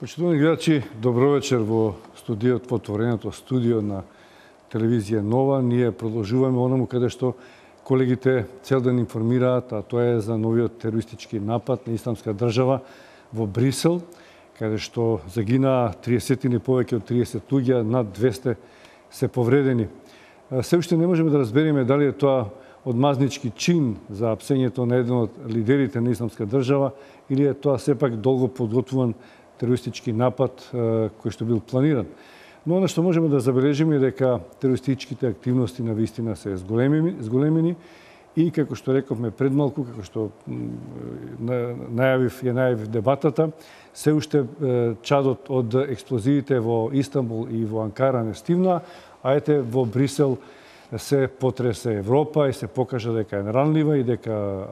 Почитувани гледачи, добро вечер во студиот, во отвореното студио на телевизија Нова. Ние продолжуваме онаму каде што колегите цел ден информираат, а тоа е за новиот терористички напад на Исламска држава во Брисел, каде што загинаа 30 повеќе од 30 луѓе, над 200 се повредени. Се уште не можеме да разбереме дали е тоа одмазнички чин за апсењето на еден од лидерите на Исламска држава или е тоа сепак долго подготвуван терористички напад кој што бил планиран. Но она што можеме да забележиме е дека терористичките активности на вистина се зголемени и како што рековме пред малку, како што најавив дебатата, се уште чадот од експлозиите во Истанбул и во Анкара не стивна, а ете во Брисел се потресе Европа и се покажа дека е наранлива и дека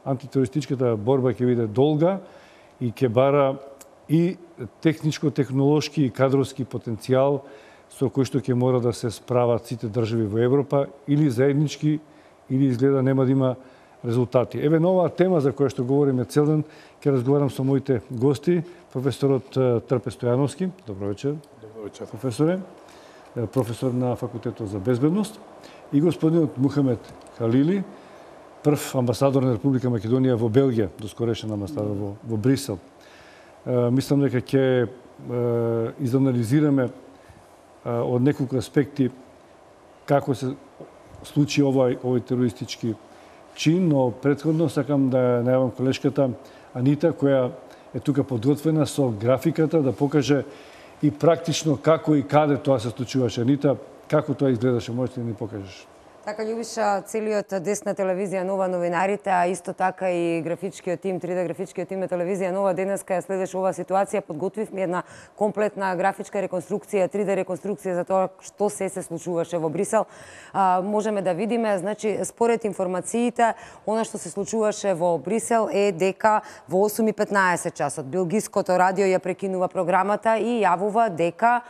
антитерористичката борба ќе биде долга и ќе бара и техничко-технолошки и кадровски потенцијал со кој што ќе мора да се справат сите држави во Европа или заеднички, или изгледа нема да има резултати. Еве на оваа тема за која што говориме цел ден, ќе разговарам со моите гости, професорот Трпе Стојановски. Добро вечер. Добро вечер. Професоре, професор на Факултетот за безбедност, и господинот Мухамед Халили, прв амбасадор на Република Македонија во Белгија, доскорешен амбасадор во Брисел. Мислам дека ќе изанализираме од неколку аспекти како се случи овој терористички чин, но претходно сакам да најавам колешката Анита, која е тука подготвена со графиката да покаже и практично како и каде тоа се случуваше. Анита, како тоа изгледаше, можеш да ни покажеш? Така, Љубиша, целиот десна телевизија Нова, новинарите, а исто така и графичкиот тим, 3D графичкиот тим на телевизија Нова, денеска ја следеше оваа ситуација, подготвивме една комплетна графичка реконструкција, 3D реконструкција за тоа што се случуваше во Брисел. Можеме да видиме, значи, според информациите, она што се случуваше во Брисел е дека во 8:15 часот белгиското радио ја прекинува програмата и јавува дека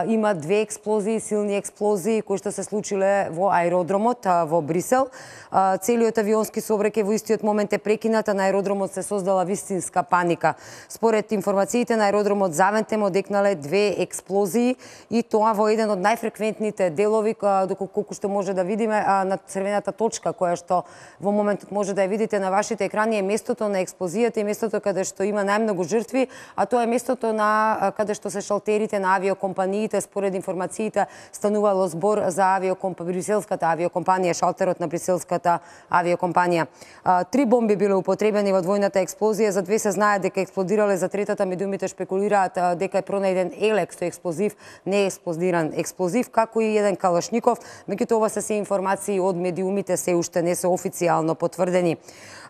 има две експлозии, силни експлозии кои што се случиле во аеродромот во Брисел. Целиот авионски сообраќај во истиот момент е прекинат, а на аеродромот се создала вистинска паника. Според информациите на аеродромот Завентем одекнале две експлозии и тоа во еден од најфреквентните делови, доколку што може да видиме на црвената точка која што во моментот може да ја видите на вашите екрани, е местото на експлозијата и местото каде што има најмногу жртви, а тоа е местото на каде што се шалтерите на авиокомпаниите. Според информациите станувало збор за бриселската авиокомпанија, шалтерот на бриселската авиокомпанија. 3 бомби биле употребени во двојната експлозија, за 2 се знае дека експлодирале, за третата медиумите шпекулираат дека е пронајден електроексплозив, неексплодиран експлозив, како и еден калашников, меѓутоа ова се информации од медиумите, се уште не се официјално потврдени.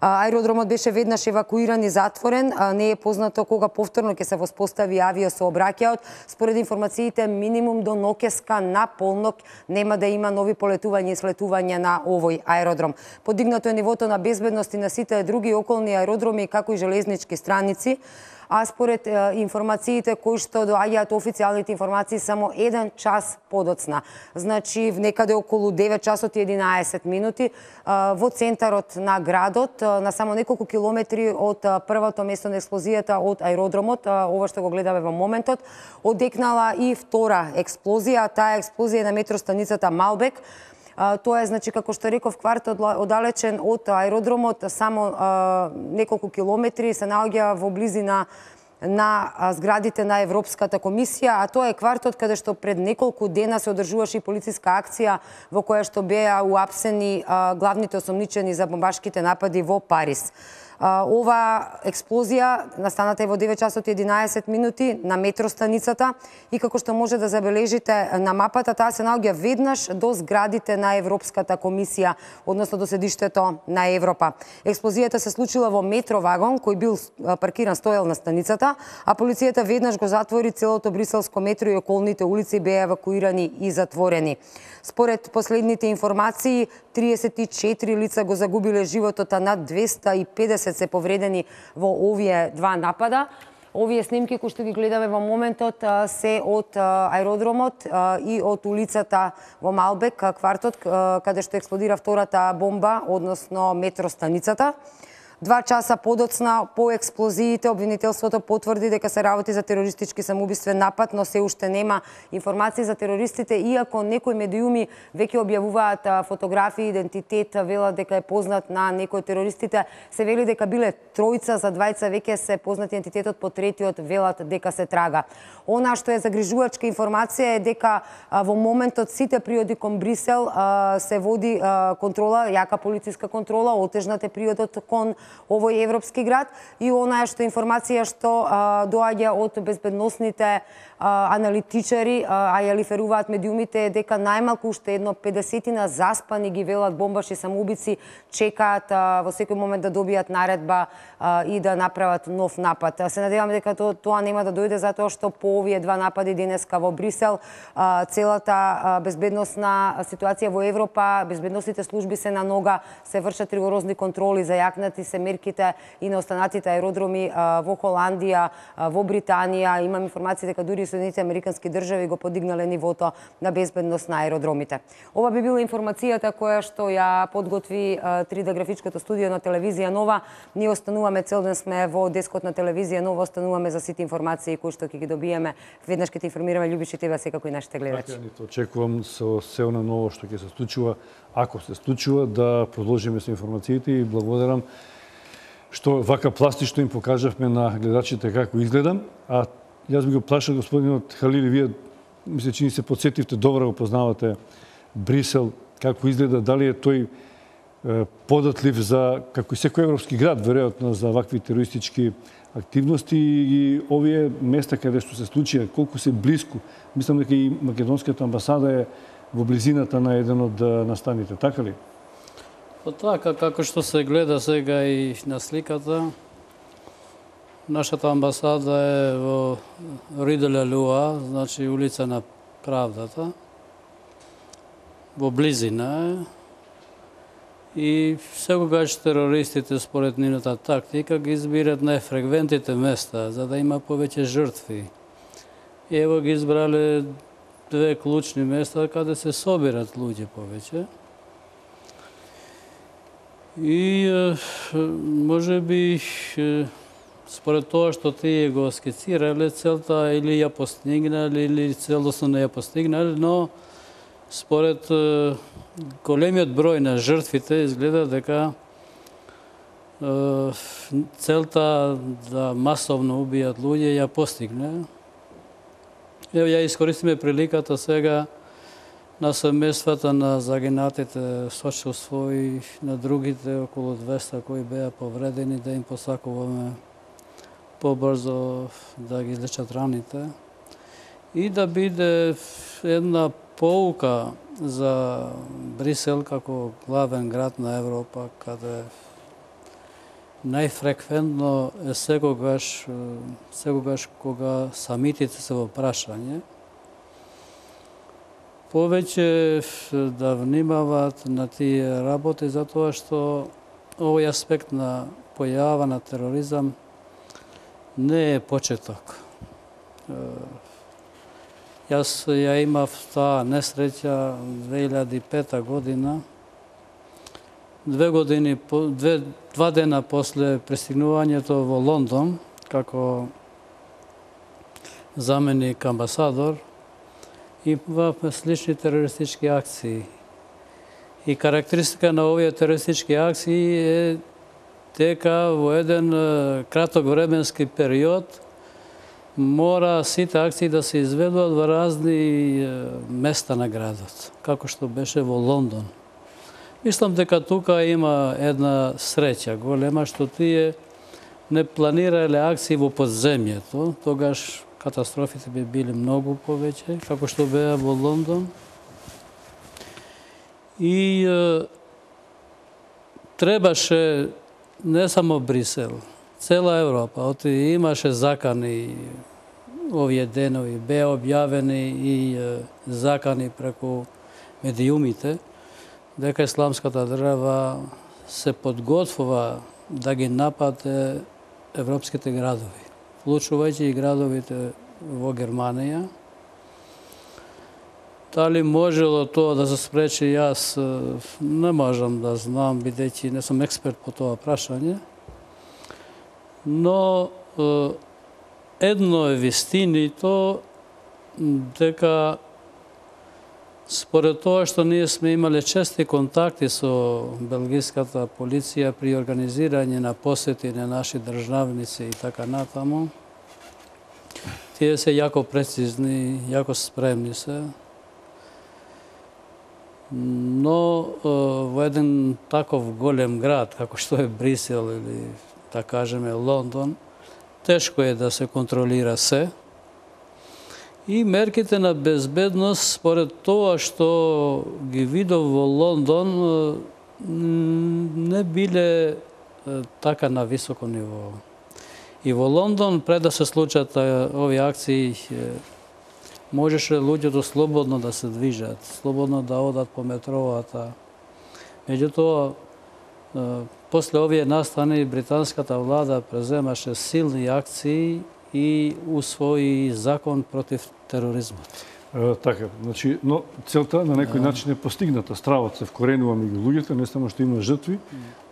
Аеродромот беше веднаш евакуиран и затворен, не е познато кога повторно ќе се воспостави авиосообраќајот. Според информациите, минимум до ноќеска на полнок нема да има нови полетувања и слетувања на овој аеродром. Подигнато е нивото на безбедност и на сите други околни аеродроми, како и железнички страници. А според информациите кои што доаѓаат, официјалните информации, само 1 час подоцна. Значи, некаде околу 9 часот и 11 минути, во центарот на градот, на само неколку километри од првото место на експлозијата од аеродромот, ова што го гледаме во моментот, одекнала и втора експлозија. Таа експлозија на метростаницата Малбек. Тоа е, значи, како што реков, квартал оддалечен од аеродромот, само неколку километри, се наоѓа во близина на зградите на Европската комисија, а тоа е квартот каде што пред неколку дена се одржуваше и полициска акција во која што беа уапсени главните осомничени за бомбашките напади во Париз. Ова експлозија настаната е во 9 часот и 11 минути на метростаницата и како што може да забележите на мапата, таа се наоѓа веднаш до зградите на Европската комисија, односно до седиштето на Европа. Експлозијата се случила во метровагон кој бил паркиран, стоел на станицата, а полицијата веднаш го затвори целото бриселско метро и околните улици беа евакуирани и затворени. Според последните информации, 34 лица го загубиле животот, а над 250 се повредени во овие два напада. Овие снимки кои што ги гледаме во моментот се од аеродромот и од улицата во Малбек, квартот каде што експлодира втората бомба, односно метростаницата. 2 часа подоцна по експлозиите обвинителството потврди дека се работи за терористички самоубиствен напад, но се уште нема информации за терористите, иако некои медиуми веќе објавуваат фотографии, идентитет, велат дека е познат на некои терористите, се вели дека биле тројца, за двајца веќе се познат идентитетот, по третиот велат дека се трага. Она што е загрижувачка информација е дека во моментот сите приоди кон Брисел се води контрола, јака полициска контрола, отежнат е приодот кон овој европски град и она што информација што доаѓа од безбедносните аналитичари, а ја лиферуваат медиумите, е дека најмалку уште едно 50 заспани, ги велат, бомбаши самоубици, чекаат во секој момент да добијат наредба и да направат нов напад. Се надевам дека тоа нема да дојде, затоа што по овие 2 напади денеска во Брисел, целата безбедносна ситуација во Европа, безбедносните служби се на нога, се вршат ригорозни контроли, зајакнати се мерките и на останатите аеродроми во Холандија, во Британија. Имам информација дека дури Соединетите Американски држави го подигнале нивото на безбедност на аеродромите. Ова би била информацијата која што ја подготви 3D графичкото студио на телевизија Нова. Ние остануваме, цел ден сме во дескот на телевизија Нова, остануваме за сите информации кои што ќе ги добиеме. Веднаш ќе те информираме, Љубише, тебе секако и нашите гледачи. Така, очекувам со се она ново што ќе се случува, ако се случува, да продолжиме со информациите и благодарам што вака пластично им покажавме на гледачите како изгледам. А јас би го плашал господинот Халили, вие мисля че ни се подсетивте, добро го познавате Брисел, како изгледа, дали е тој податлив за, како и секој европски град, веројатно, за вакви терористички активности и овие места каде што се случија, колку се блиску. Мислам дека и македонската амбасада е во близината на еден од настаните, така ли? Па така, како што се гледа сега и на сликата, нашата амбасада е во Риделе Луа, значи улица на Правдата, во близина е. И секогаш терористите, според нивната тактика, ги избират најфреквентните места, за да има повеќе жртви. И ево ги избрале 2 клучни места каде се собират луѓе повеќе. И може би според тоа што тие го скицирале, целта или ја постигнале, или целосно не ја постигнале, но според големиот број на жртвите изгледа дека целта да масовно убијат луѓе ја постигне. Ево ја искористиме приликата сега на семејствата на загинатите, сочувство и на другите околу 200 кои беа повредени, да им посакуваме побрзо да ги излечат раните и да биде една поука за Брисел како главен град на Европа, каде најфреквентно е секогаш кога самитите се во прашање, повеќе да внимаваат на тие работи, затоа што овој аспект на појава на тероризам не е почеток. Јас ја имав таа несреќа 2005 година, 2 дена после пристигнувањето во Лондон, како заменик амбасадор, имавме слични терористички акции. И карактеристика на овие терористички акции е дека во еден краток временски период мора сите акции да се изведуваат во разни места на градот, како што беше во Лондон. Мислам дека тука има една среќа голема, што тие не планирале акции во подземјето, тогаш катастрофите би били многу повеќе, како што беа во Лондон. И требаше не само Брисел, цела Европа, имаше закани овие денови, беа објавени и закани преку медиумите, дека исламската држава се подготвува да ги нападе европските градови, вклучувајќи и градовите во Германија. Дали можело тоа да се спречи, јас не можам да знам, бидејќи не сум експерт по тоа прашање. но едно е вистина и то дека според тоа што ние сме имале чести контакти со белгиската полиција при организирање на посети на наши државници и така натаму, тие се јако прецизни, јако спремни се. Но во еден таков голем град, како што е Брисел или, да кажеме, Лондон, тешко е да се контролира се. И мерките на безбедност, според тоа што ги видов во Лондон, не биле така на високо ниво. И во Лондон, пред да се случат овие акции, можеше луѓето слободно да се движат, слободно да одат по метровата. Меѓутоа, после овие настани, британската влада преземаше силни акции и усвои закон против тероризмот. Така, значи, но целта на некој начин е постигната. Стравот се вкоренува меѓу луѓето, не само што има жртви,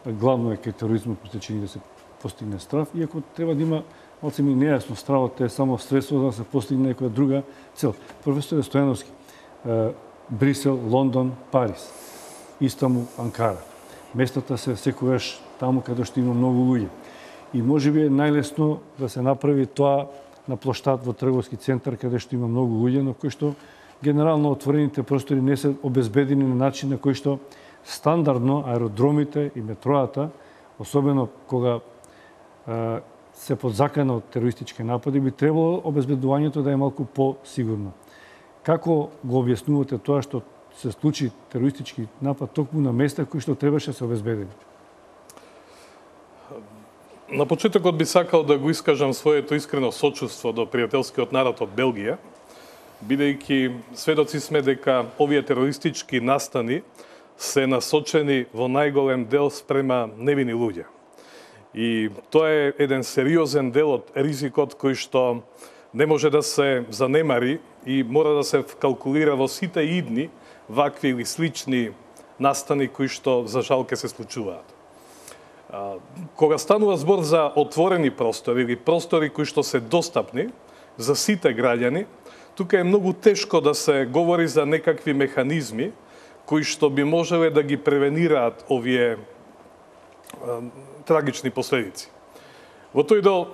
главно е кај тероризмот притечени да се постигне страв, иако треба да има малце ми нејасно, стравот е само средство да се постигне некоја друга цел. Професор Стојановски, Брисел, Лондон, Париз, Истанбул, Анкара. Местата се секогаш таму каде што има многу луѓе. И можеби е најлесно да се направи тоа на плоштад во трговски центар каде што има многу луѓе, но кој што генерално отворените простори не се обезбедени на начин на кој што стандардно аеродромите и метроата, особено кога се под закана од терористички напади, би требало обезбедувањето да е малку по-сигурно. Како го објаснувате тоа што се случи терористички напад токму на места кои што требаше да се обезбедени? На почетокот би сакал да го искажам своето искрено сочувство до пријателскиот народ од Белгија, бидејќи сведоци сме дека овие терористички настани се насочени во најголем дел спрема невини луѓе. И тоа е еден сериозен дел од ризикот кој што не може да се занемари и мора да се вкалкулира во сите идни вакви или слични настани кои што за жал ке се случуваат. Кога станува збор за отворени простори или простори кои што се достапни за сите граѓани, тука е многу тешко да се говори за некакви механизми кои што би можеле да ги превенираат овие трагични последици. Во тој дел,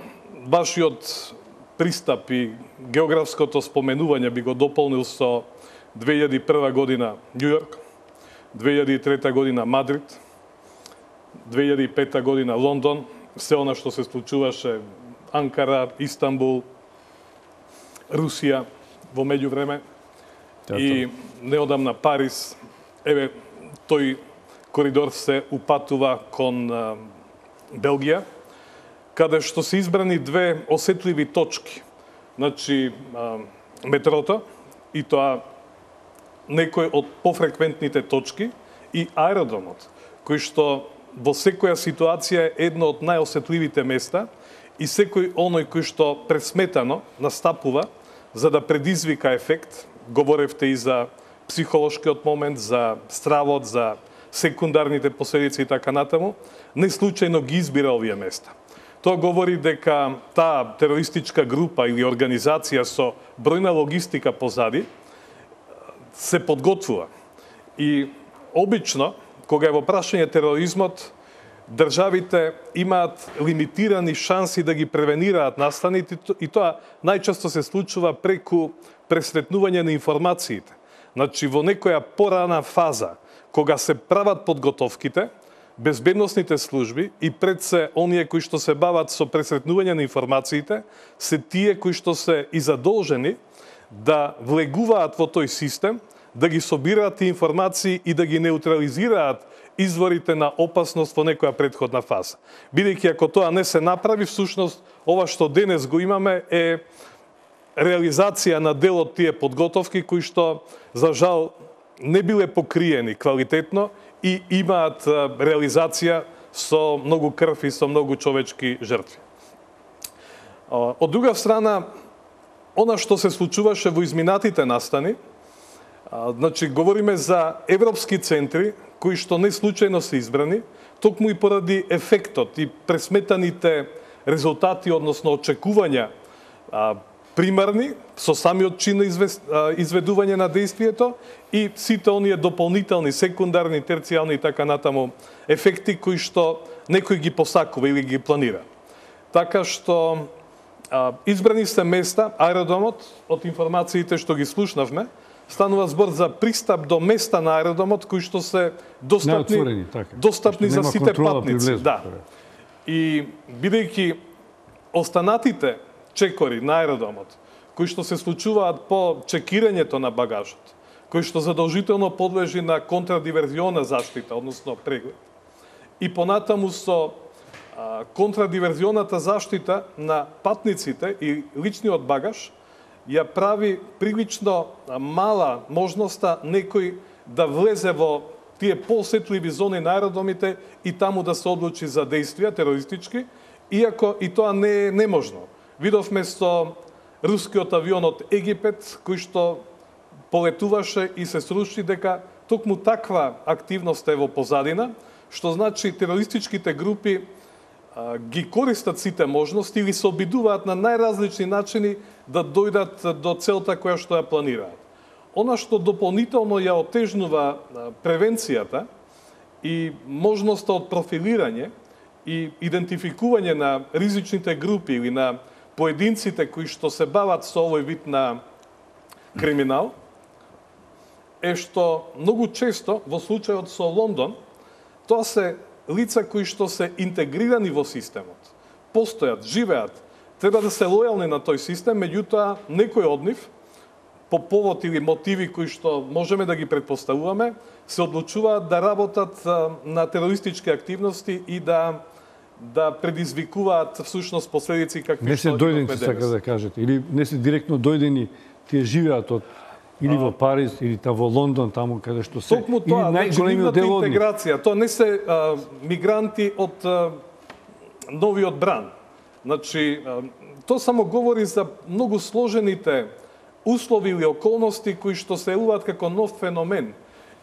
вашиот пристап и географското споменување би го дополнил со 2001 година Њу Јорк, 2003 година Мадрид, 2005 година Лондон, се она што се случуваше Анкара, Истанбул, Русија во меѓувреме и неодамна Париз. Еве, тој коридор се упатува кон Белгија, каде што се избрани две осетливи точки. Значи, метрото, и тоа некој од пофреквентните точки, и аеродромот, кој што во секоја ситуација е едно од најосетливите места и секој оној кој што пресметано настапува за да предизвика ефект, говоревте и за психолошкиот момент, за стравот, за секундарните последици и така натаму, не случајно ги избира овие места. Тоа говори дека таа терористичка група или организација со бројна логистика позади се подготвува. И обично, кога е во прашање тероризмот, државите имаат лимитирани шанси да ги превенираат настаните и тоа најчесто се случува преку пресретнување на информациите. Значи, во некоја порана фаза, кога се прават подготовките, безбедносните служби и пред се оние кои што се бават со пресретнување на информациите, се тие кои што се и задолжени да влегуваат во тој систем, да ги собираат информации и да ги неутрализираат изворите на опасност во некоја претходна фаза. Бидејќи ако тоа не се направи, всушност ова што денес го имаме е реализација на дел од тие подготовки кои што за жал не биле покриени квалитетно и имаат реализација со многу крв и со многу човечки жртви. Од друга страна, она што се случуваше во изминатите настани, значи говориме за европски центри кои што не случајно се избрани, токму и поради ефектот и пресметаните резултати, односно очекувања примарни, со самиот чин на изведување на действието и сите оние дополнителни, секундарни, терцијални и така натаму ефекти кои што некој ги посакува или ги планира. Така што избрани се места, аеродромот, од информациите што ги слушнавме, станува збор за пристап до места на аеродромот кои што се достапни за сите патници. Да. И бидејќи останатите чекори на аеродромот, кои што се случуваат по чекирањето на багажот, кои што задолжително подлежи на контрадиверзиона заштита, односно преглед, и понатаму со контрадиверзионата заштита на патниците и личниот багаж, ја прави прилично мала можноста некој да влезе во тие посетливи зони на аеродромите и таму да се одлучи за действија терористички, иако и тоа не е неможно. Видовме со рускиот авион од Египет, кој што полетуваше и се сруши, дека токму таква активност е во позадина, што значи терористичките групи ги користат сите можности или се обидуваат на најразлични начини да дојдат до целта која што ја планираат. Она што дополнително ја отежнува превенцијата и можноста од профилирање и идентификување на ризичните групи или на поединците кои што се бават со овој вид на криминал, е што многу често во случајот со Лондон, тоа се лица кои што се интегрирани во системот, постојат, живеат, треба да се лојални на тој систем, меѓутоа некој од нив, по повод или мотиви кои што можеме да ги предпоставуваме, се одлучуваат да работат на терористички активности и да предизвикуваат всушност последици какви не се дојдени, сака да кажете, или не се директно дојдени, тие живеат од или во Париз, или во Лондон, таму каде што се. Токму тоа, најголемиот дел од интеграција, тоа не се мигранти од новиот бран. Значи, тоа само говори за многу сложените услови или околности кои што се елуваат како нов феномен.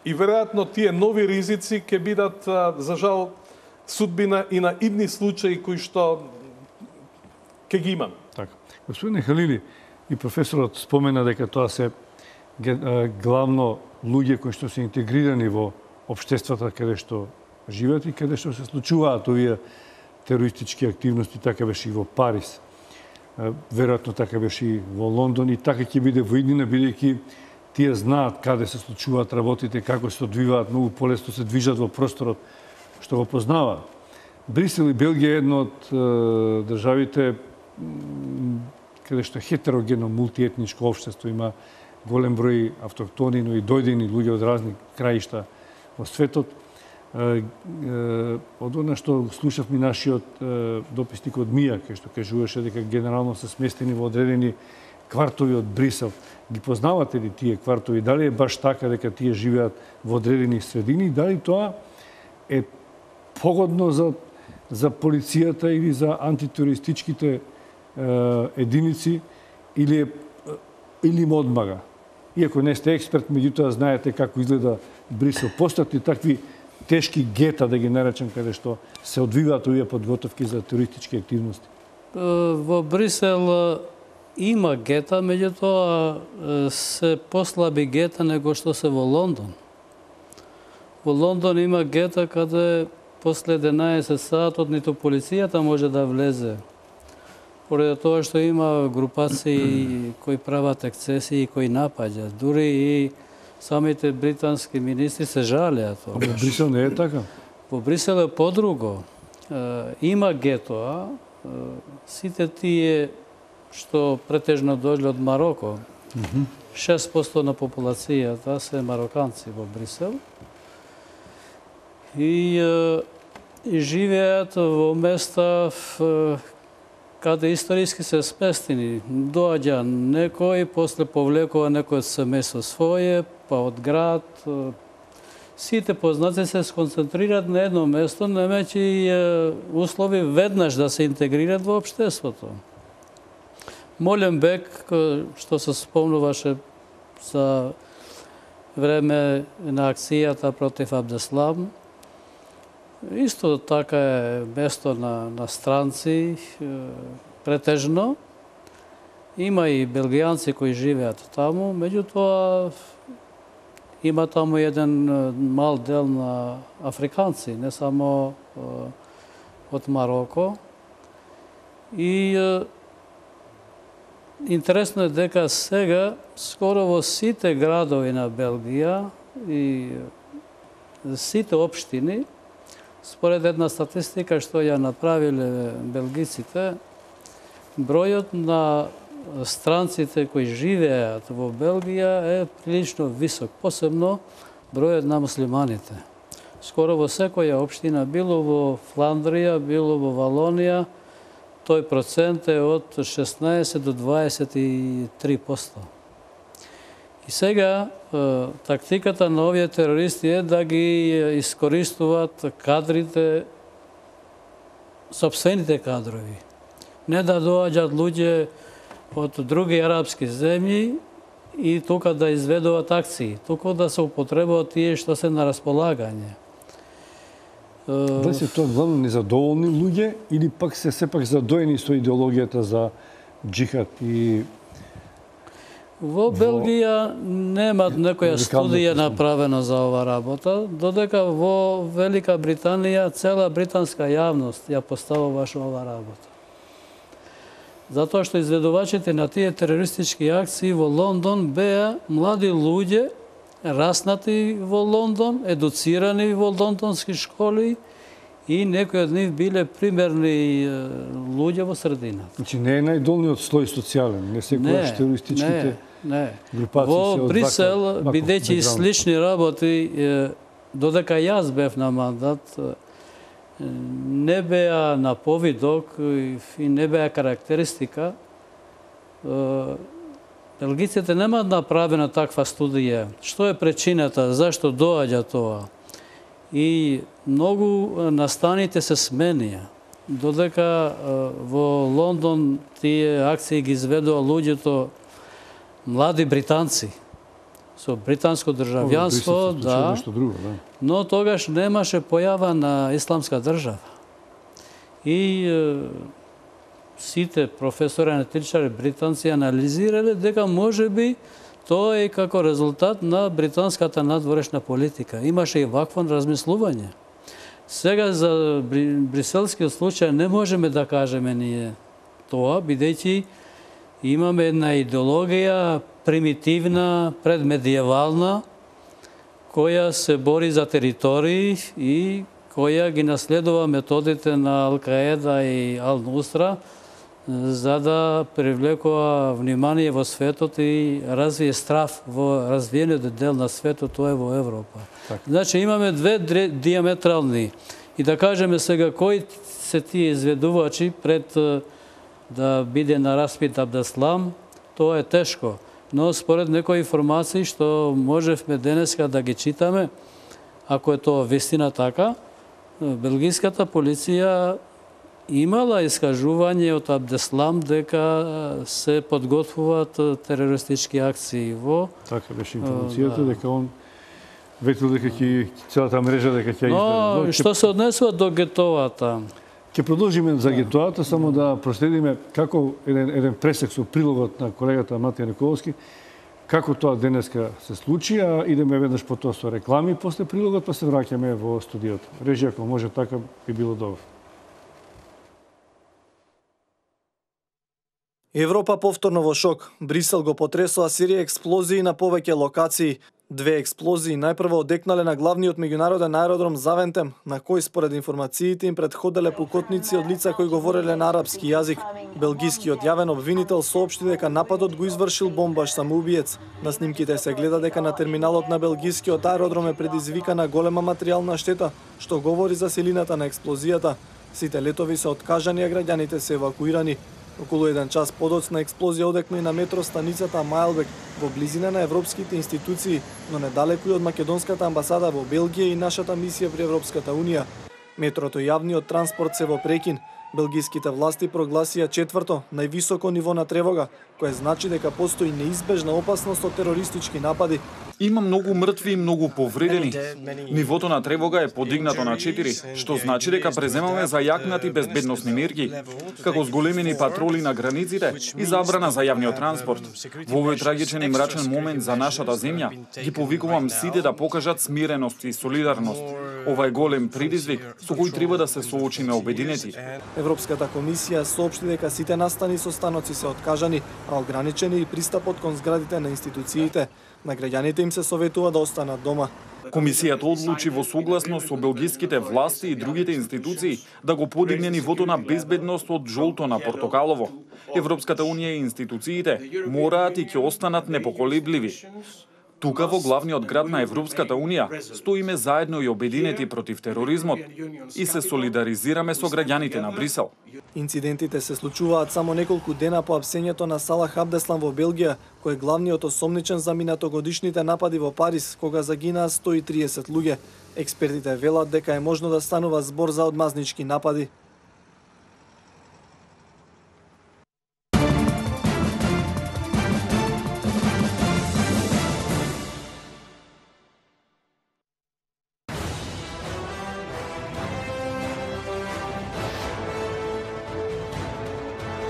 И веројатно тие нови ризици ќе бидат, за жал, судбина и на идни случаи кои што ќе ги имаме. Така. Господине Халили, и професорот спомена дека тоа се главно луѓе кои што се интегрирани во општествата каде што живеат и каде што се случуваат овие терористички активности, така беше и во Париз. Веројатно така беше и во Лондон и така ќе биде во иднина, бидејќи тие знаат каде се случуваат работите, како се одвиваат, многу полесно се движат во просторот што го познаваат. Брисел и Белгија е едно од државите каде што е хетерогено мултиетничко општество, има голем број автохтони, но и дојдени луѓе од разни краишта во светот. Од она што слушавме нашиот дописник од Мија, кај што кажуваше дека генерално се сместени во одредени квартови од Брисел. Ги познавате ли тие квартови? Дали е баш така дека тие живеат во одредени средини? Дали тоа е погодно за полицијата или за антитерористичките единици или им одмага? Иако не сте експерт, меѓутоа знаете како изгледа Брисел. Постојат ли такви тешки гета, да ги наречем, каде што се одвиваат овие подготовки за терористички активности? Во Брисел има гета, меѓутоа се послаби гета него што се во Лондон. Во Лондон има гета каде после 11 сатот ниту полицијата може да влезе. Поради тоа што има групации кои прават ексцесии, кои напаѓаат. Дури и самите британски министри се жалеат. Во Брисел не е така? Во Брисел е подруго. Има гетоа. Сите тие што претежно дојде од Мароко, 6% на популацијата се мароканци во Брисел. И живеат во места каде историски се сместени. Доаѓа некој, после повлекува некој од семејство своје, па од град. Сите познати се сконцентрираат на едно место, немајќи услови веднаш да се интегрираат во општеството. Моленбек, што се спомнуваше за време на акцијата против Абдеслам, Исто така е место на странци, претежно. Има и белгијанци кои живеат таму, меѓутоа има таму еден мал дел на африканци, не само од Мароко. И интересно е дека сега скоро во сите градови на Белгија и сите општини, според една статистика што ја направиле белгиците, бројот на странците кои живеат во Белгија е прилично висок, посебно бројот на муслиманите. Скоро во секоја општина, било во Фландрија, било во Валонија, тој процент е од 16 до 23%. И сега тактиката на овие терористи е да ги искористуваат кадрите, сопствените кадрови. Не да доаѓаат луѓе од други арапски земји и тука да изведуваат акции, туку да се употребуваат тие што се на располагање. Дали се тоа главно незадоволни луѓе или пак се сепак задоени со идеологијата за джихад и Во Белгија немат некоја студија направена за ова работа, додека во Велика Британија цела британска јавност ја поставуваше ова работа. Затоа што изведувачите на тие терористички акции во Лондон беа млади луѓе, раснати во Лондон, едуцирани во лондонски школи и некои од нив биле примерни луѓе во средината. Значи не е најдолниот слој социјален, не секогаш терористичките групации во се од Брисел, ваков бидејќи бекграунд. слични работи, додека јас бев на мандат, не беа на повидок и не беа карактеристика. Белгиците немаат направена таква студија. Што е причината, зашто доаѓа тоа? И многу настаните се сменија. Додека во Лондон тие акции ги изведува луѓето млади британци со британско државјанство, да, но тогаш немаше појава на исламска држава. И сите професори аналитичари британци анализирале дека можеби тоа е како резултат на британската надворешна политика. Имаше и вакво размислување. Сега за бриселскиот случај не можеме да кажеме ние тоа, бидејќи имаме една идеологија примитивна, предмедиевална, која се бори за територии и која ги наследува методите на Ал-Каеда и Ал-Нусра за да привлекува внимание во светот и развие страв во развиениот дел на светот, тоа е во Европа. Так. Значи имаме две диаметрални. И да кажеме сега кои се тие изведувачи пред да биде на распит Абдеслам, тоа е тешко. Но според некои информации што можевме денеска да ги читаме, ако е тоа вистина така, белгиската полиција имала искажување од Абдеслам дека се подготвуваат терористички акции во... Така беше информацијата, дека он ветил дека ќе целата мрежа дека ќе издаде. Но што се однесува до гетовата? Ќе продолжиме за гетоата, само да проследиме како еден пресек со прилогот на колегата Матија Николовски, како тоа денеска се случи, а идеме веднаш по тоа со реклами после прилогот, па се враќаме во студиото. Режија, ако може така, би било добро. Европа повторно во шок. Брисел го потресоа серија експлозии на повеќе локации. Две експлозии најпрво одекнале на главниот меѓународен аеродром Завентем, на кој според информациите им предходеле пукотници од лица кои говореле на арапски јазик. Белгискиот јавен обвинител соопшти дека нападот го извршил бомбаш самоубиец. На снимките се гледа дека на терминалот на белгискиот аеродром е предизвикана голема материјална штета, што говори за силината на експлозијата. Сите летови се откажани, а граѓаните се евакуирани. Околу 1 час подоцна експлозија одекна и на метростаницата Мајлбек во близина на европските институции, но недалеку и од македонската амбасада во Белгија и нашата мисија при Европската унија. Метрото и јавниот транспорт се во прекин. Белгиските власти прогласија четврто, највисоко ниво на тревога, кое значи дека постои неизбежна опасност од терористички напади. Има многу мртви и многу повредени. Нивото на тревога е подигнато на 4, што значи дека преземаме зајакнати безбедносни мерки, како зголемени патроли на границите и забрана за јавниот транспорт. Во овој трагичен и мрачен момент за нашата земја, ги повикувам сите да покажат смиреност и солидарност. Ова е голем предизвик со кој треба да се соочиме обединети. Европската комисија соопшти дека сите настани со станоци се откажани, а ограничени и пристапот кон зградите на институциите. На граѓаните им се советува да останат дома. Комисијата одлучи во согласност со белгиските власти и другите институции да го подигне нивото на безбедност од жолто на портокалово. Европската унија и институциите мораат и ќе останат непоколебливи. Тука во главниот град на Европската унија стоиме заедно и обединети против тероризмот и се солидаризираме со граѓаните на Брисел. Инцидентите се случуваат само неколку дена по апсењето на Салах Абдеслам во Белгија, кој е главниот осомничен за минатогодишните напади во Париз, кога загинаа 130 луѓе. Експертите велат дека е можно да станува збор за одмазнички напади.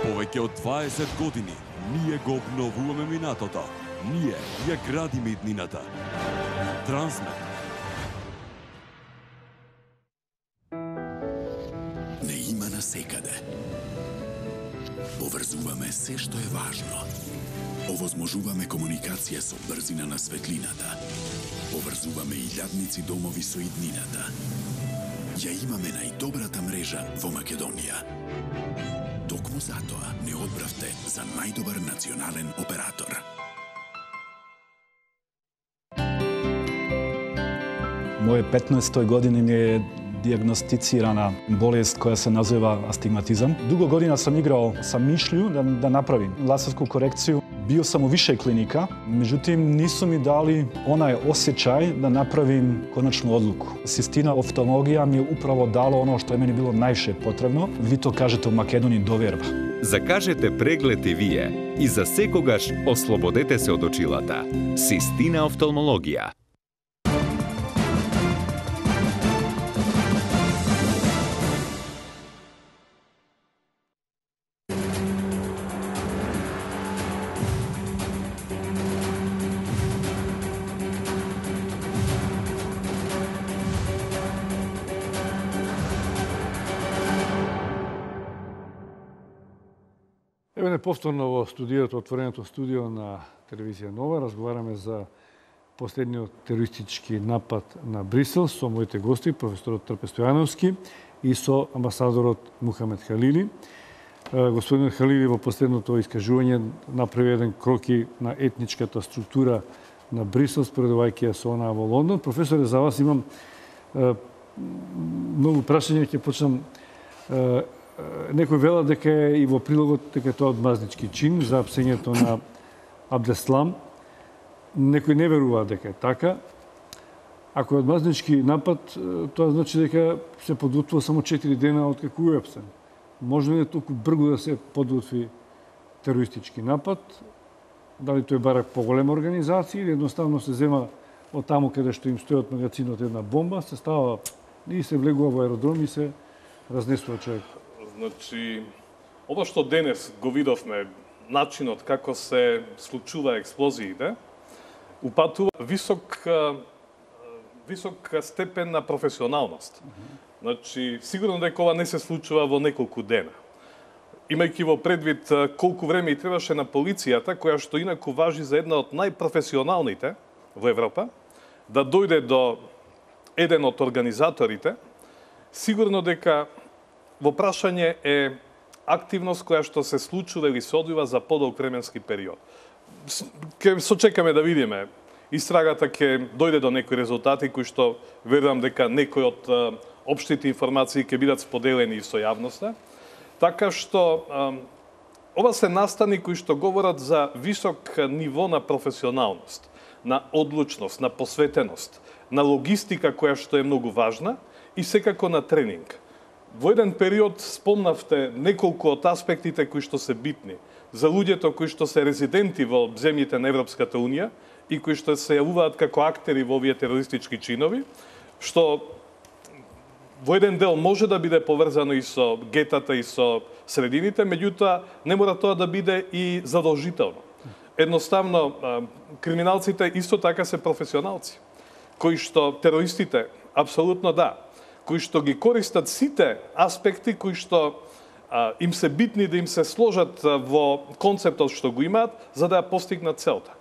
Повеќе од 20 години ние го обновуваме минатото. Ние ја градиме иднината. Трансмет. Не има насекаде. Поврзуваме се што е важно. Овозможуваме комуникација со брзина на светлината. Поврзуваме илјадници домови со иднината. Ја имаме најдобрата мрежа во Македонија. Токму затоа не одбравте за најдобар национален оператор. Моје 15-тој години ми е дијагностицирана болест која се назива астигматизам. Дуго година сам играл со мишлју да направим лазерску корекцiju. Био сам у више клиника, меđutim нису ми дали онај осеќај да направим конечну одлуку. Систина офталмологија ми управо дало оно што е мене било најше потребно. Ви то кажете у Македонија доверба. Закажете преглед и вие и за секогаш ослободете се од очилата. Систина офталмологија. Еве повторно во студиото, отвореното студио на телевизија Нова, разговараме за последниот терористички напад на Брисел со моите гости, професорот Трпе Стојановски и со амбасадорот Мухамед Халили. Господин Халили во последното искажување направи еден кроки на етничката структура на Брисел, споредувајќи ја со онаа во Лондон. Професоре, за вас имам многу прашања, ќе почнам. Некој вела дека е и во прилогот дека тоа одмазнички чин за апсењето на Абдеслам. Некој не верува дека е така. Ако е одмазнички напад, тоа значи дека се подготвува само 4 дена од како е апсен. Може ли толку брзо да се подготви терористички напад? Дали тој бара поголема организација или едноставно се зема од таму каде што им стои од магазинот една бомба, се става и се влегува во аеродром и се разнесува човек? Значи, ова што денес го видовме, начинот како се случува експлозиите, упатува висок степен на професионалност. Значи, сигурно дека ова не се случува во неколку дена. Имајќи во предвид колку време и требаше на полицијата, која што инаку важи за една од најпрофесионалните во Европа, да дојде до еден од организаторите, сигурно дека во прашање е активност која што се случува или се одвива за подолг временски период. Ке сочекаме да видиме. Истрагата ќе дојде до некои резултати кои што верувам дека некои од општите информации ќе бидат споделени со јавноста. Така што ова се настани кои што говорат за висок ниво на професионалност, на одлучност, на посветеност, на логистика која што е многу важна и секако на тренинг. Во еден период спомнавте неколку од аспектите кои што се битни за луѓето кои што се резиденти во земјите на Европската Унија и кои што се јавуваат како актери во овие терористички чинови, што во еден дел може да биде поврзано и со гетата и со средините, меѓутоа не мора тоа да биде и задолжително. Едноставно, криминалците исто така се професионалци, кои што терористите, апсолутно да, кои што ги користат сите аспекти кои што им се битни да им се сложат во концептот што го имаат, за да ја постигнат целта.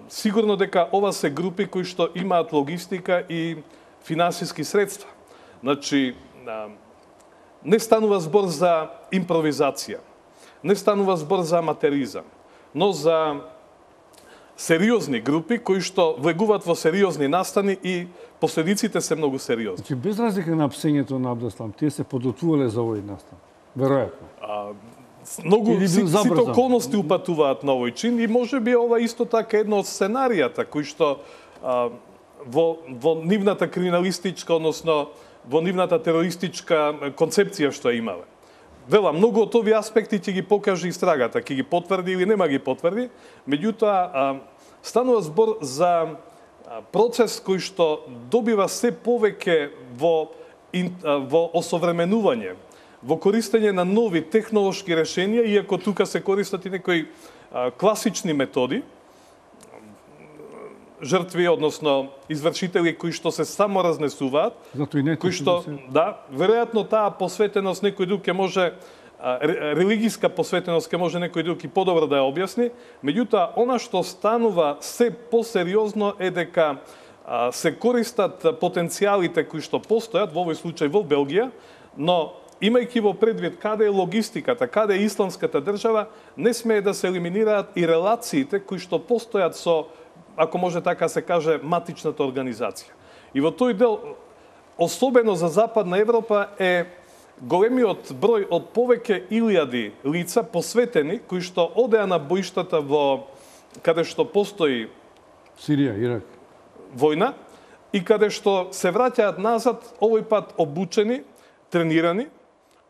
Сигурно дека ова се групи кои што имаат логистика и финансиски средства. Значи, не станува збор за импровизација, не станува збор за аматеризам, но за сериозни групи кои што влегуваат во сериозни настани и последиците се многу сериозни. Значи, без разлика на апсењето на Абдеслам, тие се подготвувале за овој настан. Веројатно. Многу сите околности упатуваат на овој чин и може би ова исто така едно од сценаријата кои што во нивната криминалистичка, односно во нивната терористичка концепција што имале. Вела, многу од овие аспекти ќе ги покаже истрагата, ќе ги потврди или нема ги потврди, меѓутоа станува збор за процес кој што добива се повеќе во осовременување, во користење на нови технолошки решенија, иако тука се користат и некои класични методи, жртви, односно извршители кои што се само разнесуваат, кои што, да, веројатно таа посветеност некој друг ќе може, религиска посветеност ќе може некој друг и подобро да ја објасни, меѓутоа, она што станува се посериозно е дека се користат потенцијалите кои што постојат, во овој случај во Белгија, но имајќи во предвид каде е логистиката, каде е исламската држава, не смее да се елиминираат и релациите кои што постојат со, ако може така се каже, матичната организација. И во тој дел, особено за Западна Европа, е големиот број од повеќе илјади лица посветени, кои што одеа на боиштата во каде што постои Сирија, Ирак, војна, и каде што се враќаат назад, овој пат обучени, тренирани,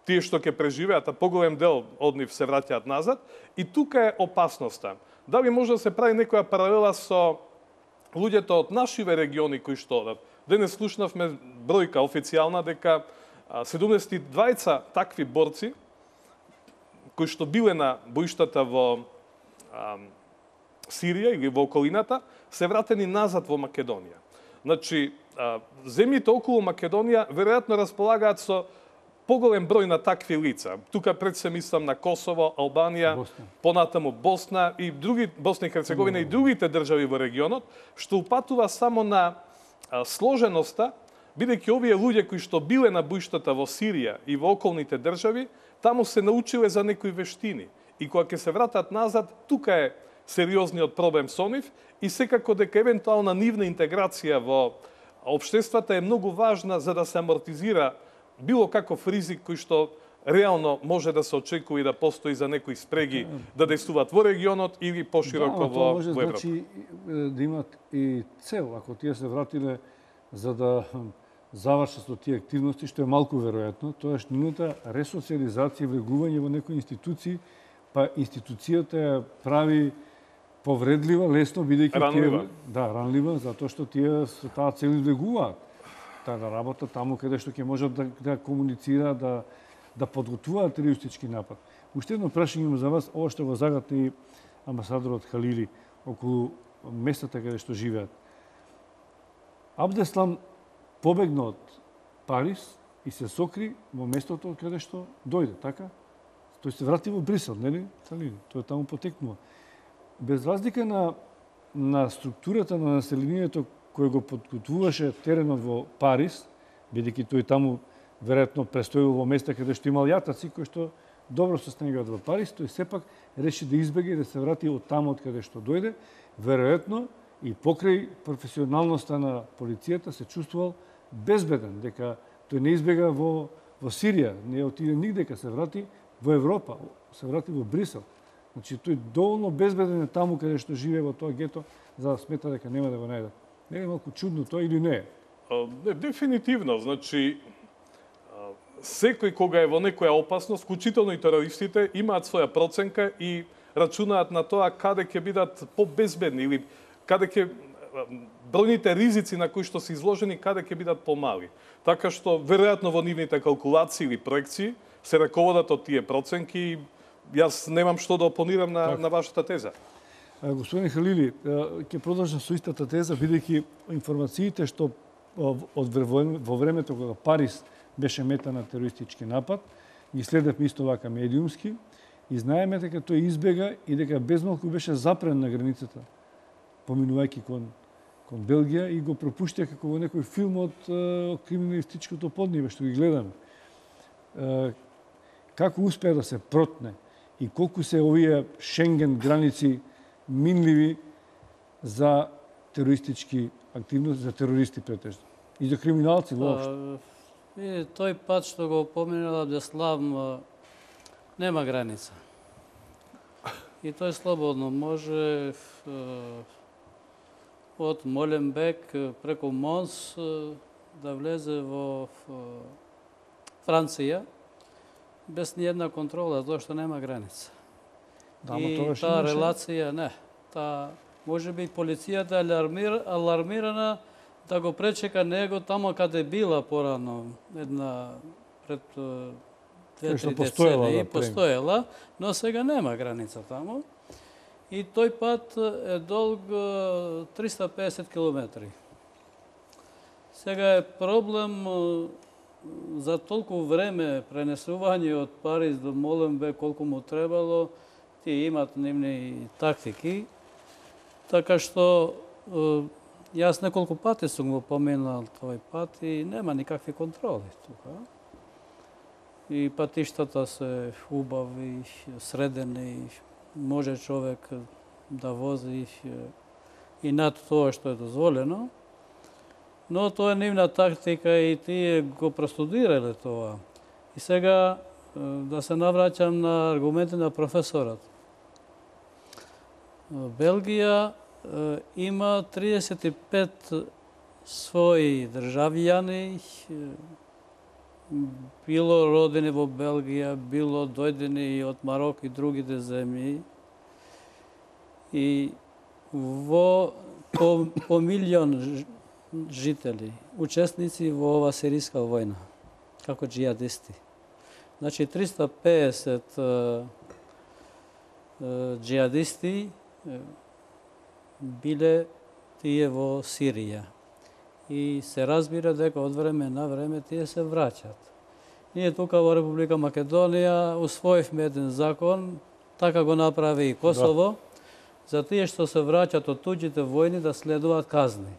тие што ќе преживеат, а поголем дел од нив се враќаат назад, и тука е опасноста. Дали може да се прави некоја паралела со луѓето од нашиве региони кои што денес слушнавме бројка официјална дека 72 такви борци кои што биле на боиштата во Сирија или во околината се вратени назад во Македонија. Значи, земјите околу Македонија веројатно располагаат со поголем број на такви лица. Тука пред се мислам на Косово, Албанија, понатаму Босна и други, Босна и Херцеговина и другите држави во регионот, што упатува само на сложеноста, бидејќи овие луѓе кои што биле на боиштата во Сирија и во околните држави, таму се научиле за некои вештини. И кога ќе се вратат назад, тука е сериозниот проблем со нив и секако дека евентуална нивна интеграција во општествата е многу важна за да се амортизира било каков ризик кој што реално може да се очекува и да постои за некои спреги да действуваат во регионот или пошироко во Европа. Значи да имат и цел, ако тие се вратиле за да завршат со тие активности, што е малку веројатно, тоа е нивната ресоциализација и влегување во некои институции, па институцијата ја прави повредлива, лесно, бидејќи ранлива. Ранлива, затоа што тие со таа цел влегуваат. Да работа таму каде што ќе можат да комуницира, да подготвуваат терористички напад. Уште едно прашање имам за вас, ова што го загатни амбасадорот Халили околу местата каде што живеат. Абдеслам побегна од Париз и се сокри во местото каде што дојде, така? Тој се врати во Брисел, нели? Халили, тој таму потекнува. Без разлика на структурата на населението кој го подготвуваше теренот во Париз, бидејќи тој таму веројатно престојува во места каде што имал јатаци кои што добро се снегаат во Париз, тој сепак реши да избега и да се врати од таму од каде што дојде, веројатно и покрај професионалноста на полицијата се чувствувал безбеден, дека тој не избега во Сирија, не отиде нигде, се врати во Европа, се врати во Брисел. Значи тој доволно безбеден е таму каде што живее во тоа гето, за да смета дека нема да го најде. Не е малку чудно тоа или не? Дефинитивно, значи секој кога е во некоја опасност, вклучително и терористите, имаат своја проценка и рачунаат на тоа каде ќе бидат побезбедни или каде ќе бројните ризици на кои што се изложени каде ќе бидат помали. Така што веројатно во нивните калкулации или проекции се раководат од тие проценки и јас немам што да опонирам на вашата теза. Господин Халили, ќе продолжам со истата теза, бидејќи информациите што во времето кога Париз беше мета на терористички напад, ги следевме исто вака медиумски и знаеме дека тој избега и дека безмалку беше запрен на границата, поминувајќи кон Белгија и го пропуштија како во некој филм од криминалистичкото поднебе што ги гледаме. Како успеа да се протне и колку се овие Шенген граници минливи за терористички активности, за терористи претежно и за криминалци воопшто. Тој пат што го поминала Абдеслам нема граница. И тој слободно може од Моленбек преку Монс да влезе во Франција без ни една контрола, затоа што нема граница. И таа релација, не. Може би полицијата алармирана да го пречека него тамо каде била порано, една пред 2-3 децени постоела, но сега нема граница тамо. И тој пат е долг 350 километри. Сега е проблем за толку време пренесување од Париз до Моленбек, колку му требало, тие имат нивни тактики. Така што јас неколку пати сум го поминал тој пат и нема никакви контроли тука. И патиштата се убави, средени, може човек да вози и над тоа што е дозволено. Но тоа е нивна тактика и тие го простудирале тоа. И сега да се навраќам на аргументи на професорот. Белгија има 35 своји државјани, било родени во Белгија, било дојдени од Марок и другите земји. И по милион жители, учесници во ова сирийска војна, како джијадисти. Значи 350 джијадисти биле тие во Сирија. И се разбира дека од време на време тие се враќат. Ние тука во Република Македонија усвоивме еден закон, така го направи и Косово, за тие што се враќат од туѓите војни да следуваат казни.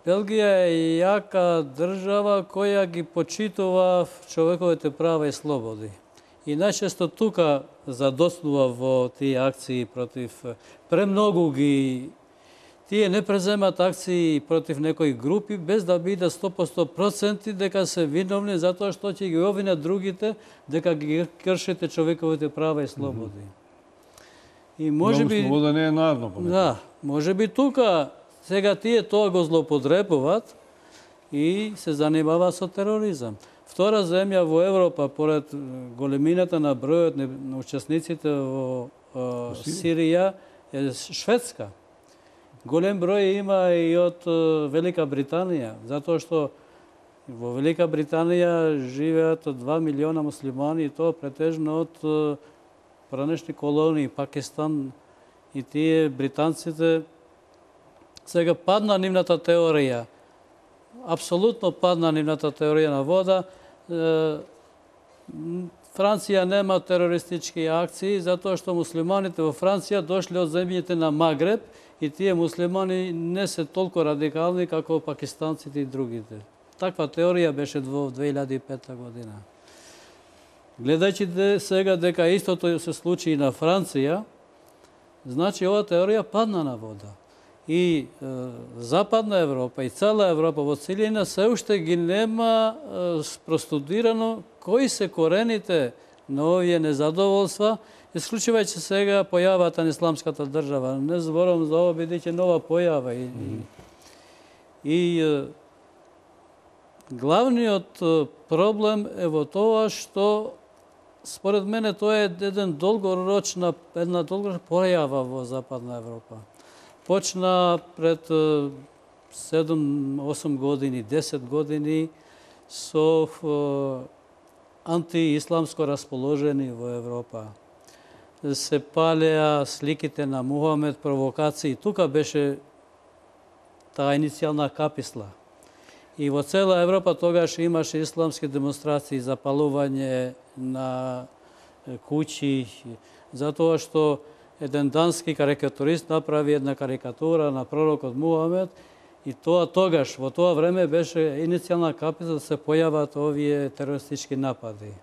Белгија е јака држава која ги почитува човековите права и слободи. И најчесто тука задоснува во тие акции против премногу ги. Тие не преземат акции против некои групи без да бидат 100% дека се виновни затоа што ќе ги обвинат другите дека ги кршите човековите права и слободи. И можеби слобода не е наравно. Да, можеби тука сега тие тоа го злоупотребуваат и се занимаваат со тероризам. Втора земја во Европа, поред големината на бројот на учесниците во Сирија, е Шведска. Голем број има и од Велика Британија, затоа што во Велика Британија живеат 2 милиона муслимани и тоа претежно од пранешни колонии, Пакистан и тие британците. Сега падна нивната теорија. Апсолутно падна нивната теорија на вода. Франција нема терористички акции затоа што муслиманите во Франција дошли од земјите на Магреб и тие муслимани не се толку радикални како пакистанците и другите. Таква теорија беше во 2005 година. Гледајќи сега дека истото се случи и на Франција, значи ова теорија падна на вода. И Западна Европа и цела Европа во целина се уште ги нема простудирано кои се корените на овие незадоволства, исклучувајќи сега појавата на исламската држава. Не зборам за ова, бидејќи нова појава. Главниот проблем е во тоа што според мене тоа е една долгорочна појава во Западна Европа. Почна пред 7-8 години, 10 години со антиисламско расположени во Европа. Се палеа сликите на Мухамед, провокации. Тука беше таа иницијална каписла. И во цела Европа тогаш имаше исламски демонстрации, запалување на куќи, затоа што еден дански карикатурист направи една карикатура на пророкот Мухамед и тоа тогаш, во тоа време беше иницијална каписла да се појават овие терористички напади.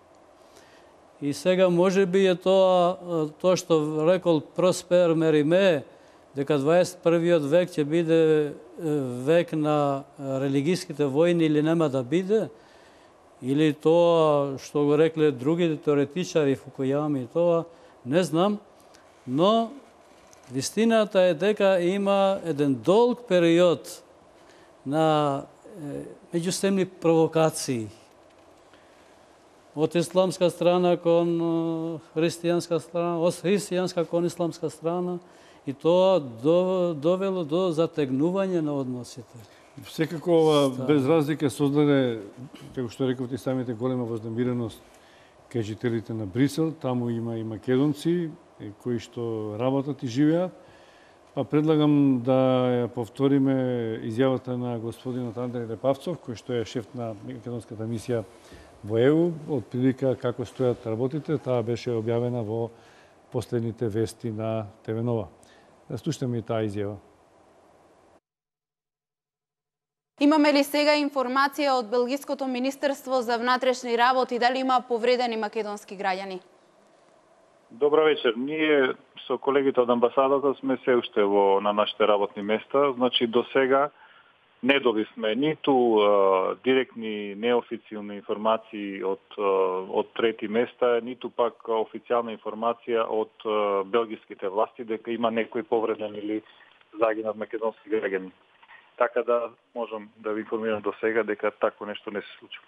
И сега може би е тоа што рекол Проспер Мериме, дека 21. век ќе биде век на религиските војни или нема да биде, или тоа што го рекле другите теоретичари, Фукујами, тоа не знам, но вистината е дека има еден долг период на меѓусемни провокации од исламска страна кон христијанска страна, од христијанска кон исламска страна, и тоа довело до затегнување на односите. Секако ова без разлика создаде, како што рековте самите, голема вознемиреност кај жителите на Брисел. Таму има и македонци кои што работат и живеат. Па предлагам да ја повториме изјавата на господинот Андреј Репавцов, кој што е шеф на македонската мисија во ЕУ, од прилика како стојат работите. Таа беше објавена во последните вести на ТВ Нова. Да слушаме и таа изјава. Имаме ли сега информација од Белгиското министерство за внатрешни работи дали има повредени македонски граѓани? Добро вечер. Ние со колегите од амбасадата сме се уште на нашите работни места. Значи, до сега не добивме ниту директни неофицијални информации од трети места, ниту пак официјална информација од белгиските власти дека има некој повреден или загинат македонски граѓани. Така да можам да ви информирам до сега дека такво нешто не се случува.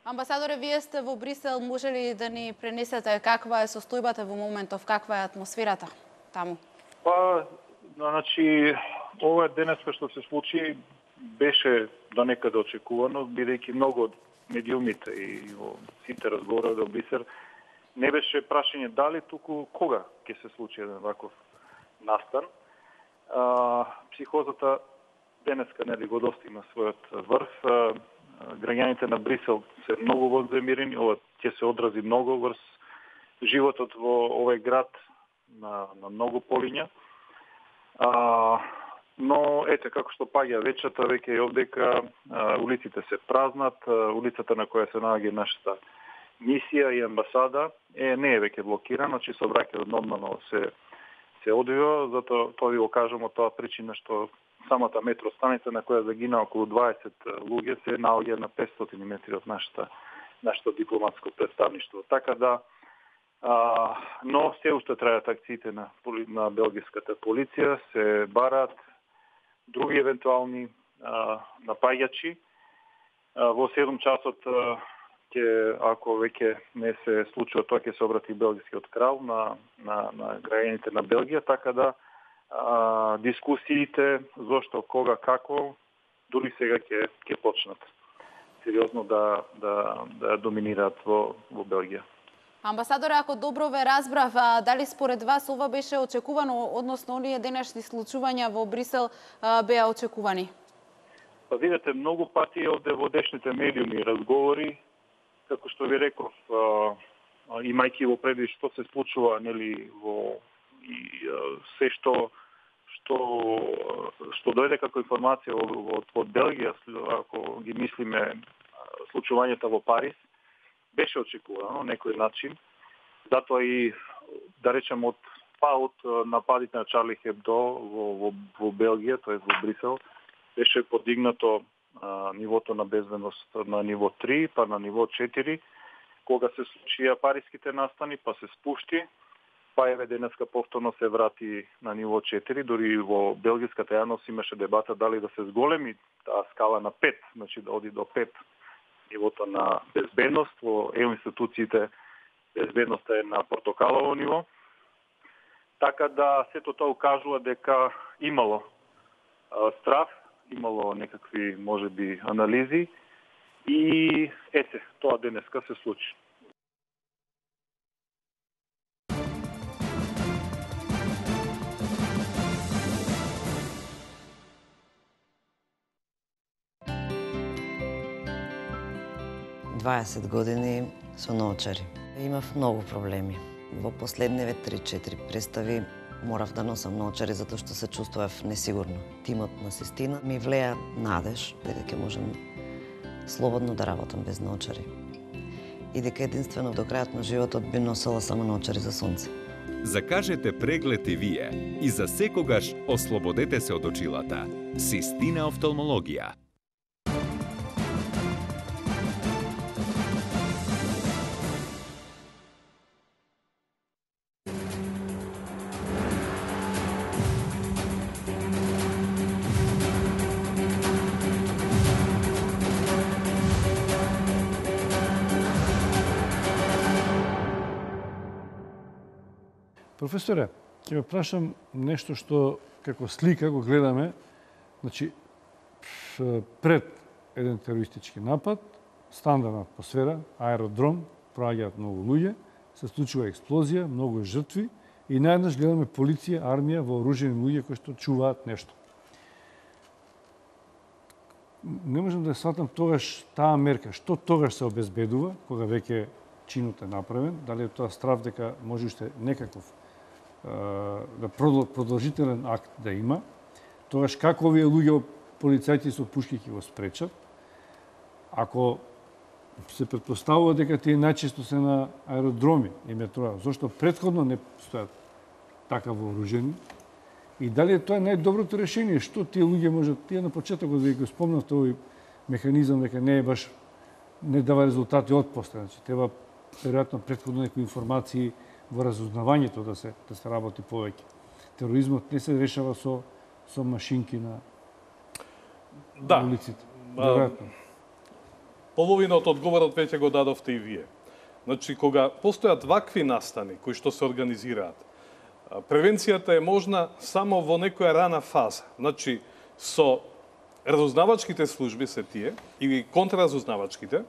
Амбасадоре, вие сте во Брисел, може ли да ни пренесете каква е состојбата во моментов, каква е атмосферата таму? Па, значи, ова денеска што се случи беше до некаде очекувано, бидејќи многу од медиумите и во сите разговори во Брисел не беше прашање дали, туку кога ќе се случи еден ваков настан. Психозата денеска нели го достигна својот врв. Граѓаните на Брисел се многу вознемирени, ова ќе се одрази многу врз животот во овој град на многу полиња. Но ете како што паѓа вечерта веќе е овдека, улиците се празнат, улицата на која се наоѓа нашата мисија и амбасада не е веќе блокирана, значи сообраќајот нормално се одвива, затоа тоа ви го кажам од тоа причина што самата метростаница на која загина околу 20 луѓе се наоѓа на 500 метри од нашето дипломатско представништво. Така да, но се уште трајат акциите на белгиската полиција, се барат други евентуални напаѓачи. Во 7 часот ако веќе не се случува тоа, ќе се обрати белгискиот крал на граѓаните на Белгија, така да дискусиите зошто, кога, како, дури сега ќе почнат сериозно да доминираат во Белгија. Амбасадоре, ако добро ве разбрав, дали според вас ова беше очекувано, односно оние денешни случувања во Брисел беа очекувани? Па видите, многу пати овде во днешните медиуми разговори, како што ви реков, имајќи во предвид што се случува, нели, и се што дојде како информација од Белгија, ако ги мислиме случувањата во Париз, беше очекувано на некој начин. Затоа и, да речем, од нападите на Чарли Хебдо во Белгија, т.е. во Брисел, беше подигнато нивото на безбедност на ниво 3, па на ниво 4, кога се случија париските настани, па се спушти, па еве денеска повторно се врати на ниво 4, дури во белгиската јавност имаше дебата дали да се зголеми таа скала на 5, значи да оди до 5 нивото на безбедност, во ЕУ институциите безбедноста е на портокалово ниво. Така да сето тоа укажува дека имало страв, имало некакви можеби анализи и тоа денеска се случи. Дваесет години со наочари. Имав многу проблеми. Во последниве 3-4 представи морав да носам наочари затоа што се чувствував несигурно. Тимот на Систина ми влеа надеж дека ќе можам слободно да работам без наочари. И дека единствено до крајот на животот би носела само наочари за сонце. Закажете преглед и вие и за секогаш ослободете се од очилата. Систина офталмологија. Професоре, ќе ве прашам нешто што како слика го гледаме, значи пред еден терористички напад, стандардна атмосфера, аеродром, проаѓаат многу луѓе, се случува експлозија, многу жртви и наеднаш гледаме полиција, армија, вооружени луѓе кои што чуваат нешто. Не можам да сватам тогаш таа мерка, што тогаш се обезбедува кога веќе чинот е направен, дали е тоа страв дека може уште некаков да продолжителен акт да има, тогаш како овие луѓе полицајци со пушки ќе го спречат, ако се претпоставува дека тие најчесто се на аеродроми и метроа, зашто претходно не стојат така вооружени, и дали е тоа најдоброто решение, што тие луѓе можат, тие на почетокот да го спомнавте овој механизам дека не е баш, не дава резултати од после, значи треба веројатно претходно некои информации во разузнавањето да се работи повеќе. Тероризмот не се решава со машинки на улиците. Веројатно. Половина од одговорот веќе го дадовте и вие. Значи, кога постојат вакви настани кои што се организираат, превенцијата е можна само во некоја рана фаза. Значи, со разузнавачките служби се тие, или контраразузнавачките,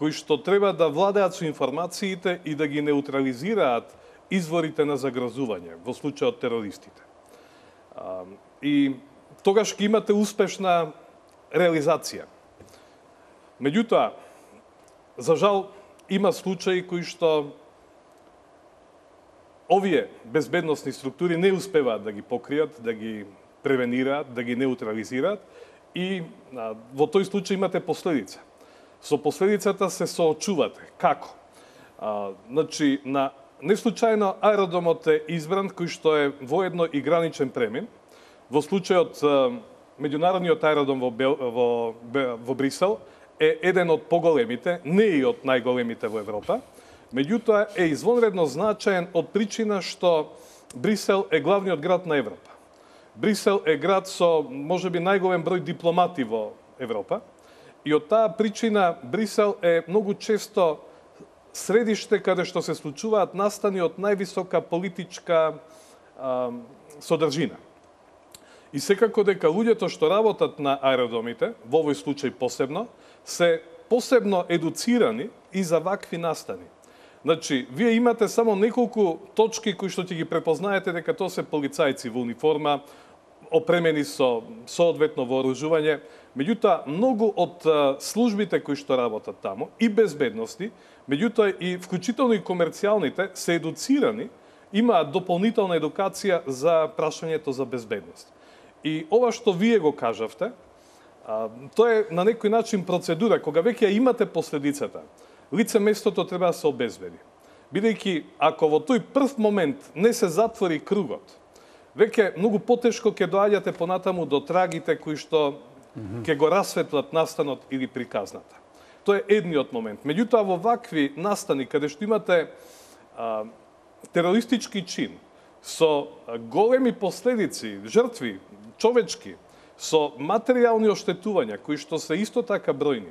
кои што треба да владеат со информациите и да ги неутрализираат изворите на загрозување, во случајот терористите. И тогаш ќе имате успешна реализација. Меѓутоа, за жал, има случаи кои што овие безбедносни структури не успеваат да ги покријат, да ги превенираат, да ги неутрализираат и во тој случај имате последица. Со последицата се соочувате. Како? Значи, неслучајно аеродромот е избран кој што е воедно и граничен премин. Во случајот меѓународниот аеродром во Брисел е еден од поголемите, не и од најголемите во Европа, меѓутоа е извонредно значаен од причина што Брисел е главниот град на Европа. Брисел е град со можеби најголем број дипломати во Европа. И од таа причина Брисел е многу често средиште каде што се случуваат настани од највисока политичка содржина. И секако дека луѓето што работат на аеродромите, во овој случај посебно, се посебно едуцирани и за вакви настани. Значи, вие имате само неколку точки кои што ќе ги препознаете дека тоа се полицајци во униформа, опремени со соодветно вооружување. Меѓутоа, многу од службите кои што работат таму, и безбедности, меѓутоа и вклучително и комерцијалните, се едуцирани, имаат дополнителна едукација за прашањето за безбедност. И ова што вие го кажавте, тоа е на некој начин процедура, кога веќе имате последицата, лице местото треба да се обезбеди. Бидејќи, ако во тој прв момент не се затвори кругот, веќе многу потешко ќе доаѓате понатаму до трагите кои што ќе го расветлат настанот или приказната. Тоа е едниот момент. Меѓутоа, во вакви настани, каде што имате терористички чин, со големи последици, жртви, човечки, со материјални оштетувања, кои што се исто така бројни,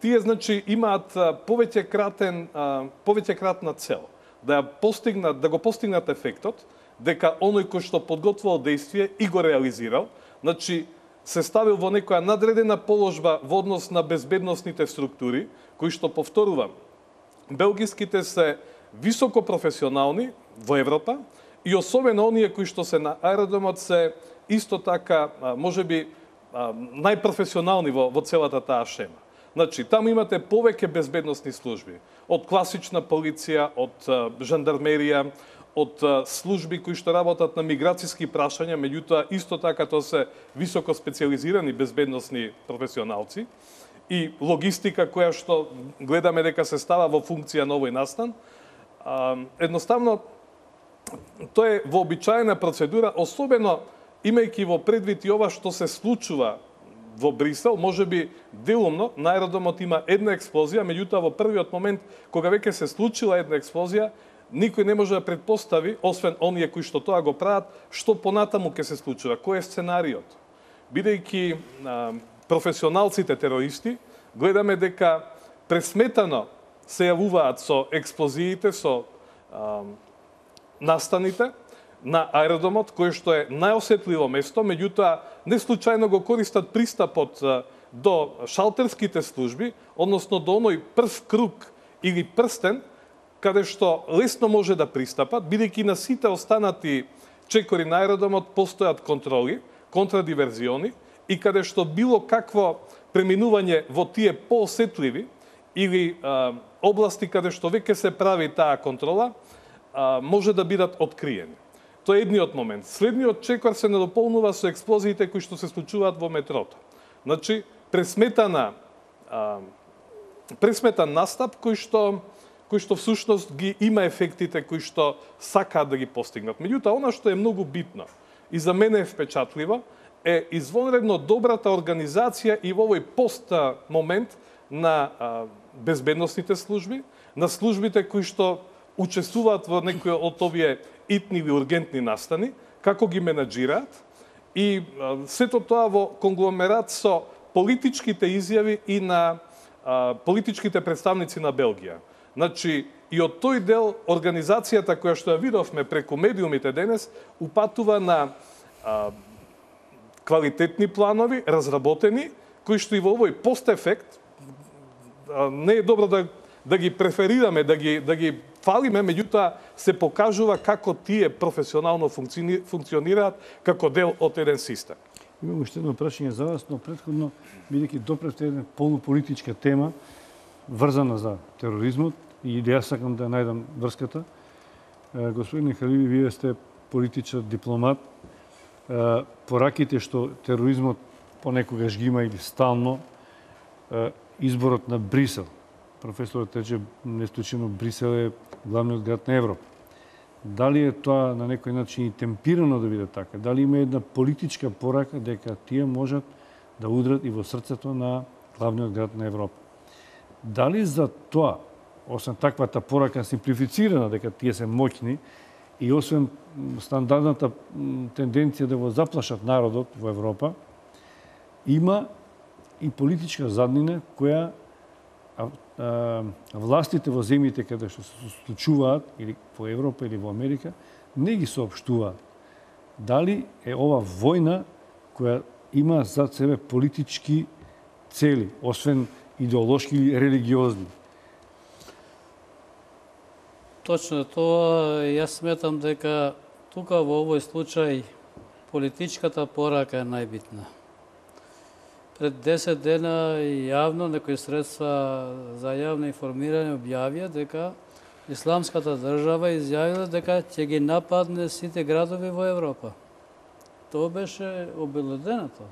Тие, значи, имаат повеќекратна цел. Да го постигнат ефектот, дека оној кој што подготвил действие и го реализирал, значи, се ставил во некоја надредена положба во однос на безбедносните структури, кои што, повторувам, белгиските се високо професионални во Европа и особено оние кои што се на аеродромот се исто така, можеби, најпрофесионални во целата таа шема. Значи, таму имате повеќе безбедносни служби. Од класична полиција, од жандармерија, од служби кои што работат на миграцијски прашања, меѓутоа исто така тоа се високо специализирани безбедносни професионалци и логистика која што гледаме дека се става во функција на овој настан. Едноставно, тоа е вообичаена процедура, особено имајќи во предвид и ова што се случува во Брисел, можеби делумно на аеродромот има една експлозија, меѓутоа во првиот момент кога веќе се случила една експлозија, никој не може да предпостави, освен оние кои што тоа го прават, што понатаму ќе се случува, кој е сценариот. Бидејќи професионалците терористи, гледаме дека пресметано се јавуваат со експлозиите, со настаните на аеродромот, кој што е најосетливо место, меѓутоа не случајно го користат пристапот до шалтерските служби, односно до оној прв круг или прстен, каде што лесно може да пристапат, бидејќи на сите останати чекори на аеродромот постојат контроли, контрадиверзиони, и каде што било какво преминување во тие поосетливи или области каде што веќе се прави таа контрола, може да бидат откриени. Тоа е едниот момент. Следниот чекор се надополнува со експлозиите кои што се случуваат во метрото. Значи, пресметан настап кој што всушност ги има ефектите кои што сакаат да ги постигнат. Меѓутоа, она што е многу битно и за мене е впечатливо, е извонредно добрата организација и во овој пост момент на безбедносните служби, на службите кои што учествуваат во некои од овие итни или ургентни настани, како ги менаџираат и сето тоа во конгломерат со политичките изјави и на политичките представници на Белгија. Значи, и од тој дел организацијата која што ја видовме преку медиумите денес, упатува на квалитетни планови, разработени, кои што и во овој постефект не е добро да ги преферираме, да ги фалиме, меѓутоа се покажува како тие професионално функционираат како дел од еден систем. Имам уште едно прашање за вас, но претходно, бидејќи допревте една полуполитичка тема, врзана за тероризмот, и да јас сакам да најдам врската. Господин Халиви, вие сте политичар, дипломат. Пораките што тероризмот понекогаш ги има или стално, изборот на Брисел. Професорот рече, неслучено Брисел е главниот град на Европа. Дали е тоа на некој начин и темпирано да биде така? Дали има една политичка порака дека тие можат да удрат и во срцето на главниот град на Европа? Дали за тоа, освен таквата порака симплифицирана дека тие се моќни и освен стандардната тенденција да го заплашат народот во Европа, има и политичка заднина која властите во земјите каде што се случуваат, или во Европа или во Америка, не ги соопштуваат. Дали е ова војна која има зад себе политички цели, освен идеолошки или религиозни? Точно тоа, јас сметам дека тука во овој случај политичката порака е најбитна. Пред 10 дена јавно некои средства за јавно информирање објавија дека Исламската држава изјавила дека ќе ги нападне сите градови во Европа. Тоа беше обелоденато.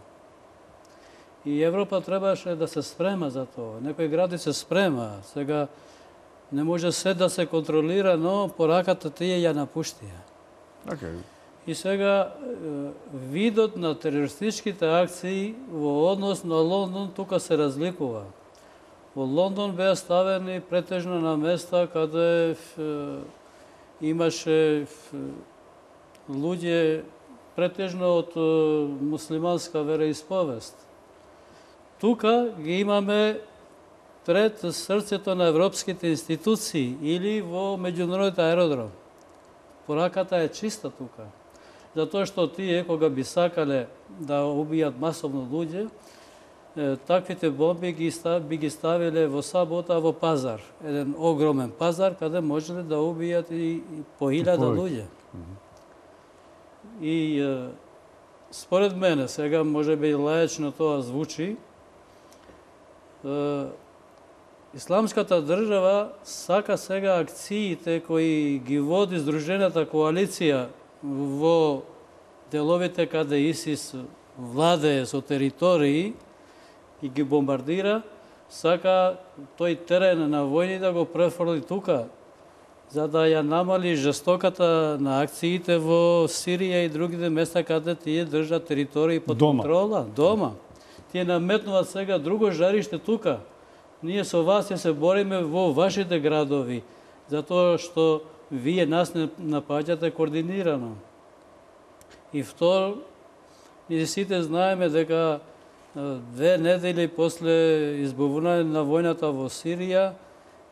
И Европа требаше да се спрема за тоа. Некои гради се спрема. Сега не може се да се контролира, но пораката тие ја напуштија. Okay. И сега видот на терористичките акции во однос на Лондон тука се разликува. Во Лондон беа ставени претежно на места каде имаше луѓе претежно од муслиманска вероисповест. тука ги имаме пред срцето на европските институции или во меѓународните аеродром. Пораката е чиста тука. Затоа што тие, кога би сакале да убијат масовно луѓе, таквите бомби би ги ставиле во сабота во пазар. Еден огромен пазар, каде можеле да убијат и по 1000 луѓе. И според мене, сега може би лаечно тоа звучи, Исламската држава сака сега акциите кои ги води Сдружената коалиција во деловите каде ИСИС владее со територии и ги бомбардира, сака тој терен на војни да го префрли тука, за да ја намали жестоката на акциите во Сирија и другите места каде тие држат територии под контрола. Дома. Тие наметнуваат сега друго жариште тука. Ние со вас се бориме во вашите градови, затоа што вие нас не напаѓате координирано. И второ, ние сите знаеме дека 2 недели после избавување на војната во Сирија,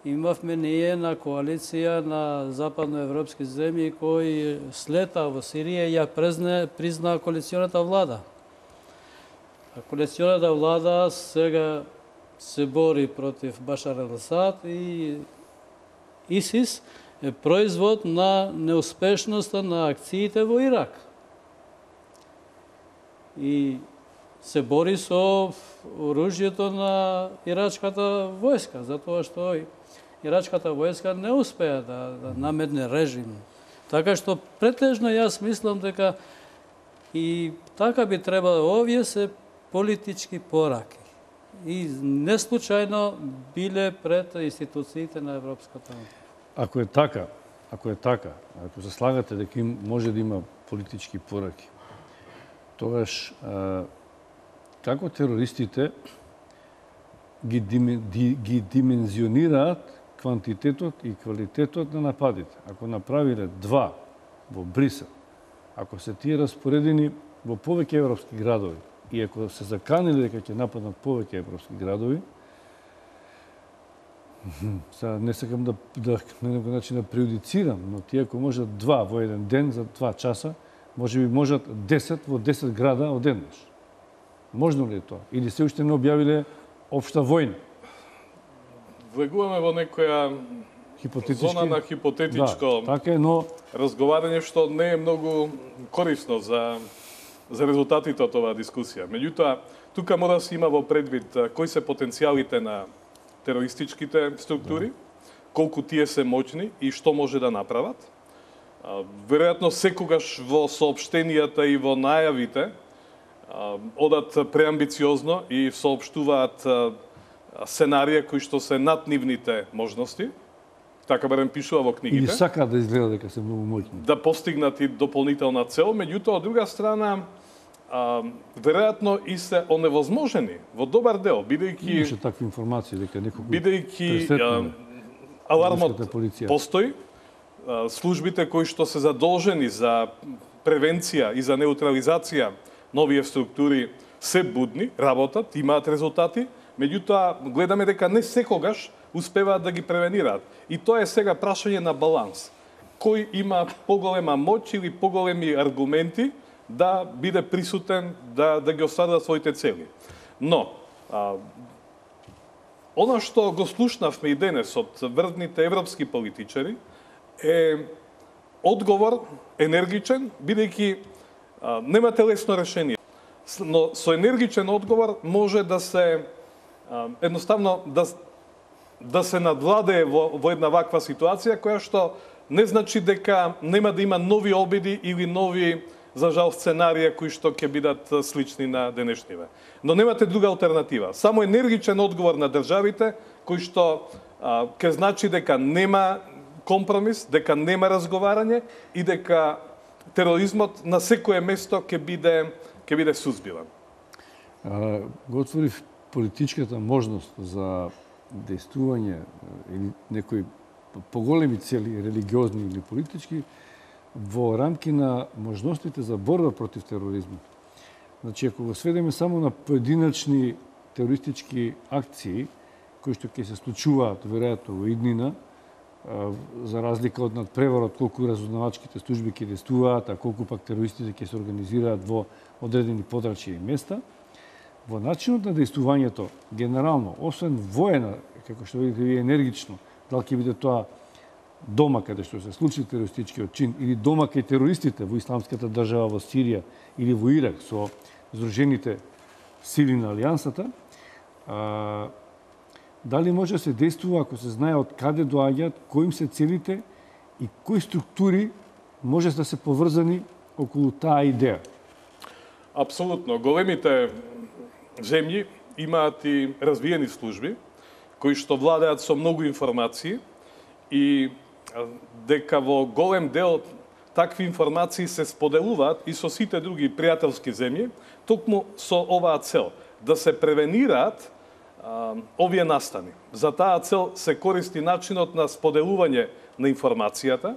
имавме ние на коалиција на западноевропски земји кои слета во Сирија ја призна коалиционата влада. А коалиционата влада сега се бори против Башар ал-Асад и ИСИС е производ на неуспешноста на акциите во Ирак. И се бори со оружјето на ирачката војска, затоа што ирачката војска не успеа да наметне режим. Така што претежно јас мислам дека и така би требало, овие се политички пораки. И не случајно биле пред институциите на Европската унија. Ако е така, ако се слагате дека може да има политички пораки, тогаш како терористите ги димензионираат квантитетот и квалитетот на нападите. Ако направиле 2 во Брисел, ако се тие распоредени во повеќе европски градови, и ако се заканили дека ќе нападнат повеќе европски градови, не сакам да на некој начин да преюдицирам, но тие ако можат 2 во еден ден за 2 часа, може би можат 10 во 10 града одеднаш. Можно ли е тоа? Или се уште не објавиле општа војна? Влегуваме во некоја зона на хипотетичко разговарање, што не е многу корисно за резултатите од оваа дискусија. Меѓутоа, тука мора да се има во предвид кои се потенцијалите на терористичките структури, колку тие се моćни и што може да направат. Веројатно секогаш во соопштенијата и во најавите одат преамбициозно и соопштуваат сценарија кои што се над нивните можности, така барем пишува во книгите. И сака да изгледа дека се многу моќни. Да постигнат и дополнителна цел, меѓутоа од друга страна веројатно и се оневозможени во добар дел, бидејќи имаше такви информации дека некој алармот постои, службите кои што се задолжени за превенција и за неутрализација на овие структури се будни, работат, имаат резултати, меѓутоа гледаме дека не секогаш успеваат да ги превенираат. И тоа е сега прашање на баланс. Кој има поголема моќ или поголеми аргументи да биде присутен, да ги остварува своите цели. Но, она што го слушнавме и денес од врвните европски политичари е одговор енергичен, бидејќи немате лесно решение. Но со енергичен одговор може да се едноставно да се надвладее во една ваква ситуација, која што не значи дека нема да има нови обиди или нови, за жал, сценарија кои што ќе бидат слични на денешниве. Но немате друга алтернатива. Само енергичен одговор на државите, кој што ќе значи дека нема компромис, дека нема разговарање и дека тероризмот на секое место ќе биде сузбиван. Го отворив политичката можност за действување или некои поголеми цели, религиозни или политички, во рамки на можностите за борба против тероризмот. Значи, ако го сведеме само на поединачни терористички акции кои што ќе се случуваат веројатно во иднина, за разлика од надпреварот колку разузнавачките служби ќе действуваат, а колку пак терористите ќе се организираат во одредени подрачја и места, во начинот на действувањето генерално, освен воена, како што видите вие енергично, дали ќе биде тоа дома каде што се случи терористичкиот чин или дома кај терористите во исламската држава во Сирија или во Ирак со здружените сили на алијансата, дали може да се действува ако се знае од каде доаѓаат, кои им се целите и кои структури може да се поврзани околу таа идеја? Апсолутно. Големите земји имаат и развиени служби кои што владеат со многу информации и дека во голем дел такви информации се споделуваат и со сите други пријателски земји, токму со оваа цел да се превенираат овие настани. За таа цел се користи начинот на споделување на информацијата,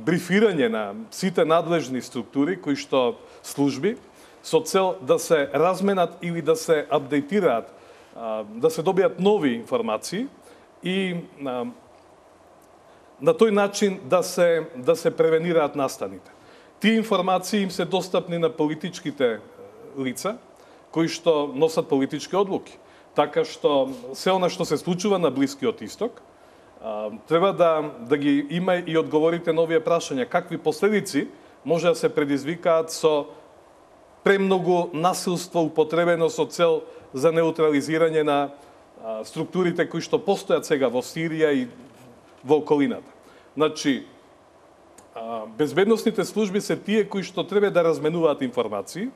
брифирање на сите надлежни структури кои што служби со цел да се разменат или да се апдейтираат, да се добијат нови информации и на тој начин да се превенираат настаните. Тие информации им се достапни на политичките лица кои што носат политички одлуки. Така што се она што се случува на Блискиот Исток треба да ги има и одговорите на овие прашања. Какви последици може да се предизвикаат со премногу насилство употребено со цел за неутрализирање на структурите кои што постојат сега во Сирија и во околината. Значи, безбедносните служби се тие кои што треба да разменуваат информации,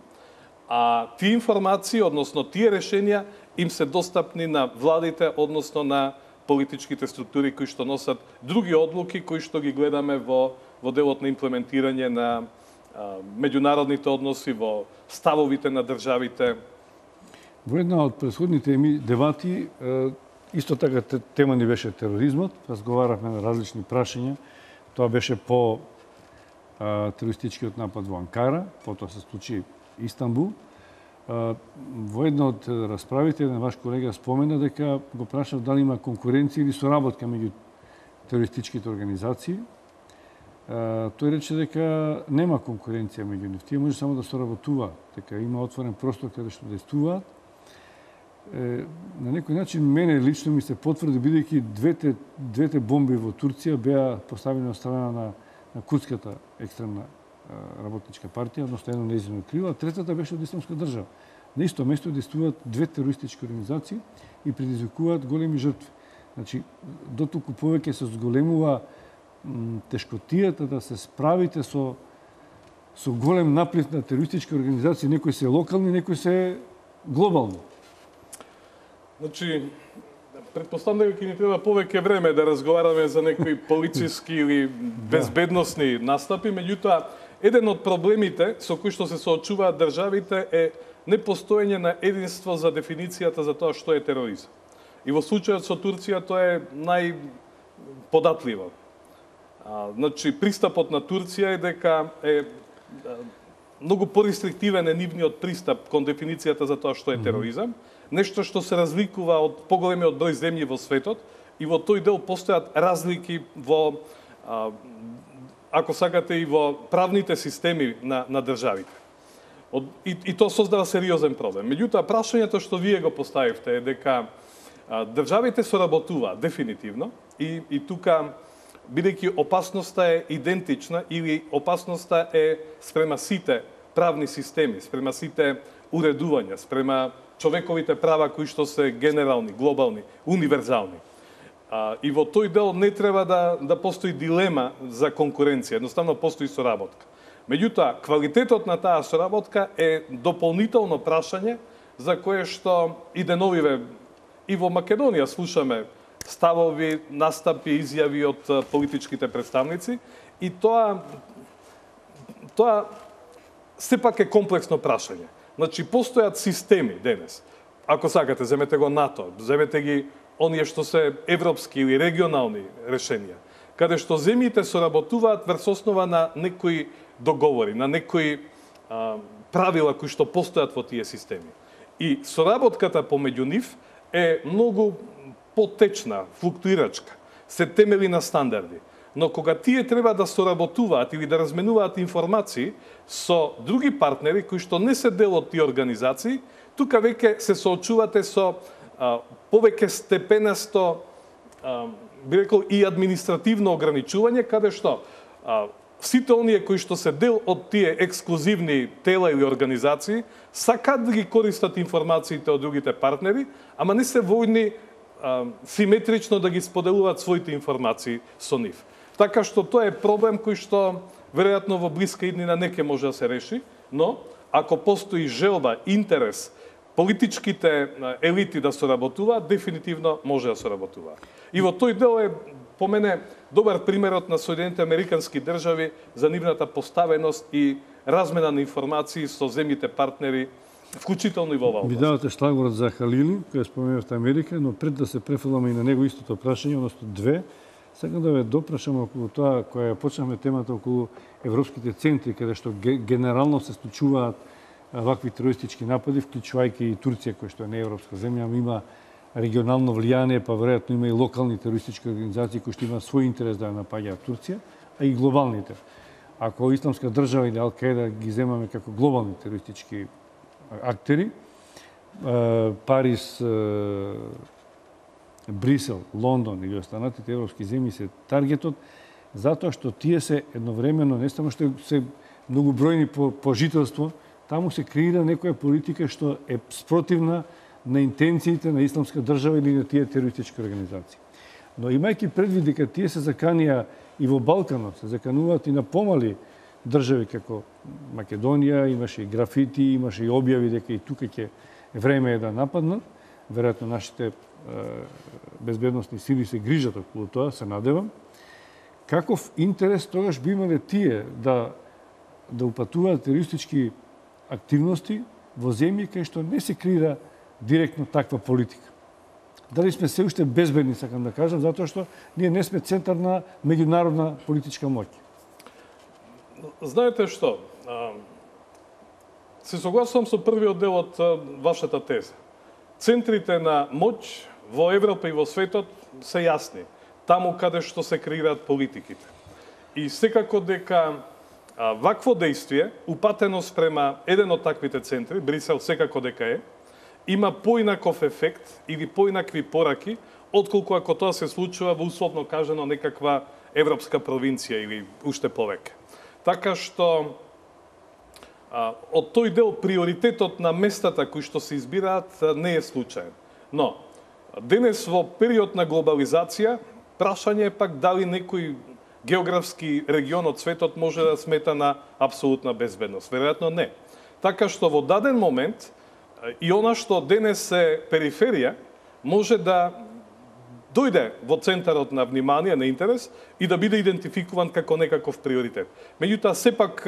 а тие информации, односно тие решенија, им се достапни на владите, односно на политичките структури кои што носат други одлуки кои што ги гледаме во делот на имплементирање на меѓународните односи, во ставовите на државите. Во една од претходните дебати, исто така тема ни беше тероризмот, разговаравме на различни прашања. Тоа беше по терористичкиот напад во Анкара, потоа се случи Истанбул. Во една од расправите, еден ваш колега спомена дека го прашав дали има конкуренција или соработка меѓу терористичките организации. Тој рече дека нема конкуренција меѓу нив. Тие може само да соработуваат, дека има отворен простор каде што действуваат. На некој начин мене лично ми се потврди, бидејќи двете бомби во Турција беа поставени од страна на курдската екстремна работничка партија, односно едно нејзино крило, а третата беше од исламска држава. На исто место действуваат две терористички организации и предизвикуваат големи жртви. Значи, дотолку повеќе се зголемува тешкотијата да се справите со голем наплив на терористички организации, некои се локални, некои се глобални. Значи, предпоставам дека ќе ни треба повеќе време да разговараме за некои полициски или безбедносни настапи, меѓутоа, еден од проблемите со кои што се соочуваат државите е непостоење на единство за дефиницијата за тоа што е тероризам. И во случајот со Турција тоа е најподатливо. Значи, пристапот на Турција е дека е многу порестриктивен е нивниот пристап кон дефиницијата за тоа што е тероризам, нешто што се разликува од поголемиот број земји во светот и во тој дел постојат разлики во, ако сакате, и во правните системи на државите. И тоа создава сериозен проблем. Меѓутоа, прашањето што вие го поставивте е дека државите соработуваат дефинитивно и тука, бидејќи опасноста е идентична или опасноста е спрема сите правни системи, спрема сите уредувања, спрема човековите права кои што се генерални, глобални, универзални. И во тој дел не треба да постои дилема за конкуренција, едноставно постои соработка. Меѓутоа, квалитетот на таа соработка е дополнително прашање за кое што и деновиве и во Македонија слушаме ставови, настапи, изјави од политичките представници и тоа сепак е комплексно прашање. Значи, постојат системи денес. Ако сакате, земете го НАТО, земете ги оние што се европски или регионални решенија, каде што земјите соработуваат врз основа на некои договори, на некои правила кои што постојат во тие системи. И соработката помеѓу нив е многу потечна, флуктуирачка, се темели на стандарди. Но кога тие треба да соработуваат или да разменуваат информации со други партнери кои што не се дел од тие организации, тука веќе се соочувате со повеќе степенасто, би рекол, и административно ограничување, каде што сите оние кои што се дел од тие ексклузивни тела или организации сакаат да ги користат информациите од другите партнери, ама не се војни симетрично да ги споделуваат своите информации со нив. Така што тоа е проблем кој што веројатно во блиска иднина не ќе може да се реши, но ако постои желба, интерес, политичките елити да соработуваат, дефинитивно може да соработуваат. И во тој дел е, по мене, добар примерот на Соединените Американски држави за нивната поставеност и размена на информации со земјите партнери, вклучително и во оваа област. Ви давате шлагворот за Халили, кој споменавте Америка, но пред да се префрламе и на него истото прашање, односно две, сакам да ве допрашам околу тоа, која почнавме темата околу европските центри, каде што генерално се случуваат вакви терористички напади, вклучувајќи и Турција, која што не е европска земја, ама има регионално влијание, па веројатно има и локални терористички организации кои што имаат свој интерес да ја напаѓаат Турција, а и глобалните. Ако Исламска држава или Ал-Каида ги земаме како глобални терористички актери, Париз, Брисел, Лондон или останатите европски земји се таргетот, затоа што тие се едновремено, не само што се многобројни по жителство, таму се креира некоја политика што е спротивна на интенциите на Исламска држава или на тие терористички организации. Но имајќи предвид дека тие се заканија и во Балканот, се закануваат и на помали држави како Македонија, имаше и графити, имаше и објави дека и тука ќе време е да нападнат. Веројатно нашите безбедносни сили се грижат околу тоа, се надевам. Каков интерес тогаш би имале тие да упатуваат терористички активности во земји кај што не се креира директно таква политика? Дали сме се уште безбедни, сакам да кажам, затоа што ние не сме центар на меѓународна политичка моќ? Знаете што? Се согласувам со првиот дел од вашата теза. Центрите на моќ во Европа и во светот се јасни. Таму каде што се креираат политиките. И секако дека вакво дејствие, упатено спрема еден од таквите центри, Брисел секако дека е, има поинаков ефект или поинакви пораки, отколку ако тоа се случува во условно кажано некаква европска провинција или уште повеќе. Така што од тој дел приоритетот на местата кои што се избираат не е случаен. Но денес во период на глобализација, прашање е пак дали некој географски регион од светот може да смета на апсолутна безбедност. Веројатно не. Така што во даден момент и она што денес е периферија може да дојде во центарот на внимание, на интерес и да биде идентификуван како некаков приоритет. Меѓутоа, сепак,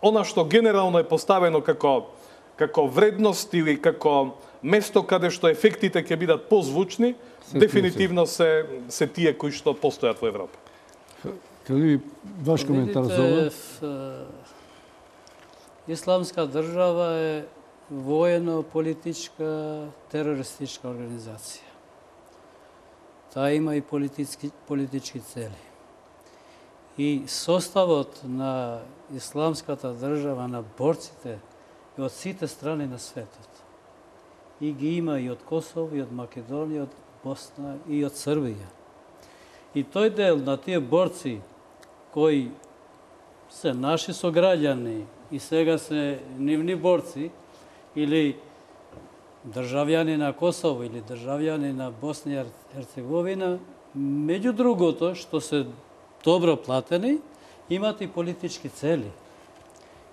она што генерално е поставено како вредност или како место каде што ефектите ќе бидат позвучни, дефинитивно се тие кои што постојат во Европа. Каде ваш коментар за ова? Исламска држава е воено-политичка терористичка организација. Таа има и политички цели. И составот на Исламската држава, на борците, е од сите страни на светот. И ги има и од Косово, и од Македонија, од Босна, и од Србија. И тој дел на тие борци, кои се наши сограѓани и сега се нивни борци, или државјани на Косово, или државјани на Босна и Херцеговина, меѓу другото, што се добро платени, имат и политички цели.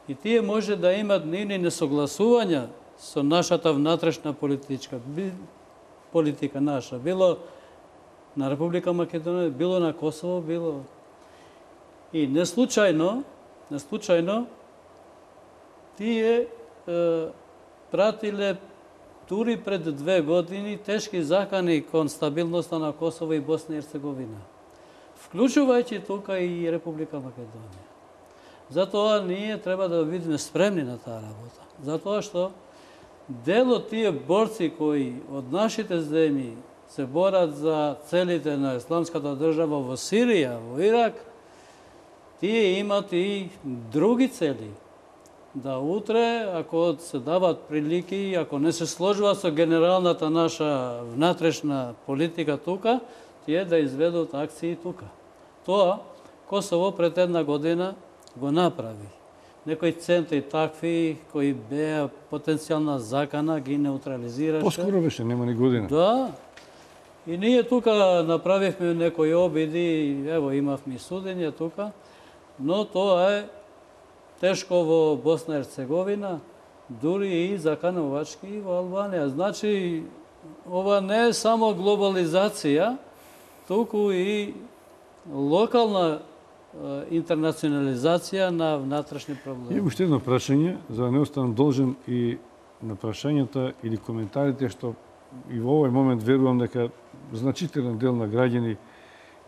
И тие може да имат нивни несогласувања со нашата внатрешна политика наша, било на Република Македонија, било на Косово, било. И не случајно тие пратиле дури пред 2 години тешки закани кон стабилноста на Косово и Босна и Херцеговина, вклучувајќи тука и Република Македонија. Затоа ние треба да бидеме спремни на таа работа. Затоа што дел од тие борци кои од нашите земји се борат за целите на исламската држава во Сирија, во Ирак, тие имат и други цели. Да утре, ако се дават прилики, ако не се сложува со генералната наша внатрешна политика тука, тие да изведат акции тука. Тоа Косово пред една година го направи. Некои центри такви кои беа потенцијална закана ги неутрализираше. Поскоро беше, нема ни година. Да. И ние тука направивме некои обиди, ево имавме судење тука, но тоа е тешко во Босна и Ерцеговина, дури и заканувачки во Албанија. Значи, ова не е само глобализација, туку и локална интернационализација на внатрешни проблеми. И уште едно прашање, за да не останам должен и на прашањата или коментарите, што и во овој момент верувам дека значителен дел на граѓани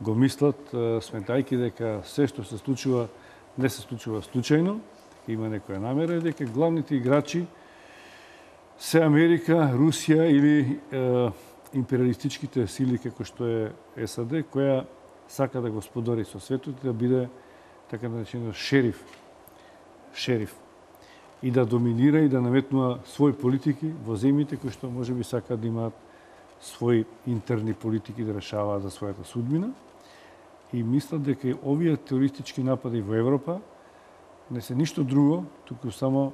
го мислат, сметајќи дека се што се случува, не се случува случајно, има некоја намера, дека главните играчи се Америка, Русија или империалистичките сили како што е САД, која сака да господари со светот и да биде така наречено шериф и да доминира и да наметнува своји политики во земјите кои што можеби сака да имаат своји интерни политики да решаваат за својата судбина. И мислат дека и овие терористички напади во Европа не се ништо друго, туку само